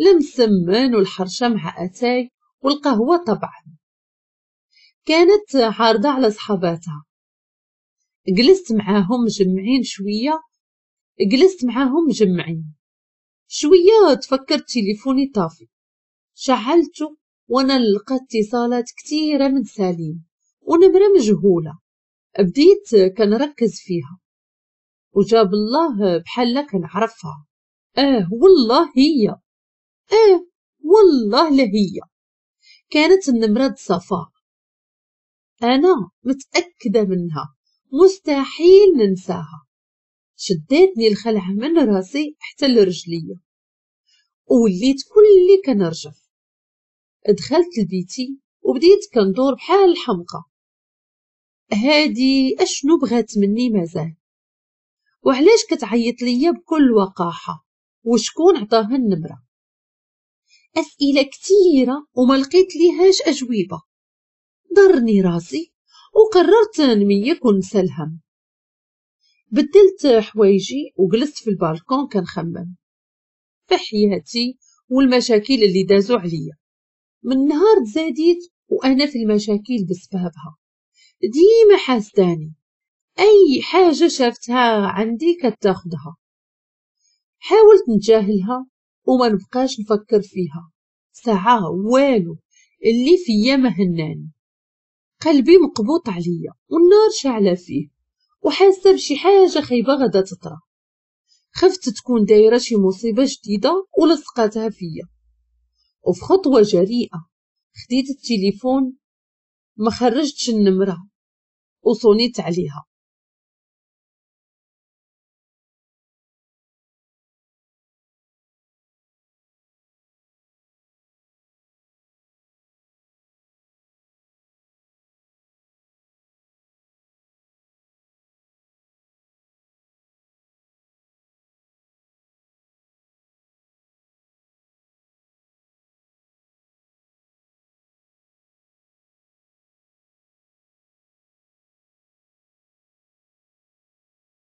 المسمن والحرشه مع اتاي والقهوة طبعا. كانت عارضه على صحاباتها. جلست معاهم مجمعين شوية جلست معاهم مجمعين شوية تفكرت تليفوني طافي، شعلته وانا نلقى اتصالات كثيرة من سليم ونمره مجهولة. بديت كنركز فيها وجاب الله بحال كنعرفها. اه والله هي، اه والله لا هي. كانت النمرة صفاء، انا متاكدة منها، مستحيل ننساها. شدتني الخلعة من راسي حتى لرجليا ووليت كلي كنرجف. دخلت لبيتي وبديت كندور بحال الحمقى. هادي اشنو بغات مني مازال؟ وعلاش كتعيط ليا بكل وقاحه؟ وشكون عطاها النمرة؟ اسئلة كثيرة وما لقيت ليهاش اجوبه. ضرني راسي وقررت نميك ونسى الهم. بدلت حوايجي وجلست في البالكون كنخمم في حياتي والمشاكل اللي دازو عليا من نهار تزاديت وانا في المشاكل بسببها. ديما حاسداني، اي حاجة شافتها عندي كتاخدها. حاولت نتجاهلها وما نبقاش نفكر فيها ساعة، والو اللي فيا ما هناني. قلبي مقبوط عليا والنار شاعله فيه، وحاسه بشي حاجة خايبة غادا تطرى. خفت تكون دايرة شي مصيبة جديدة ولصقاتها فيا. وفي خطوة جريئة خديت التليفون، ما خرجتش النمرة وصونيت عليها.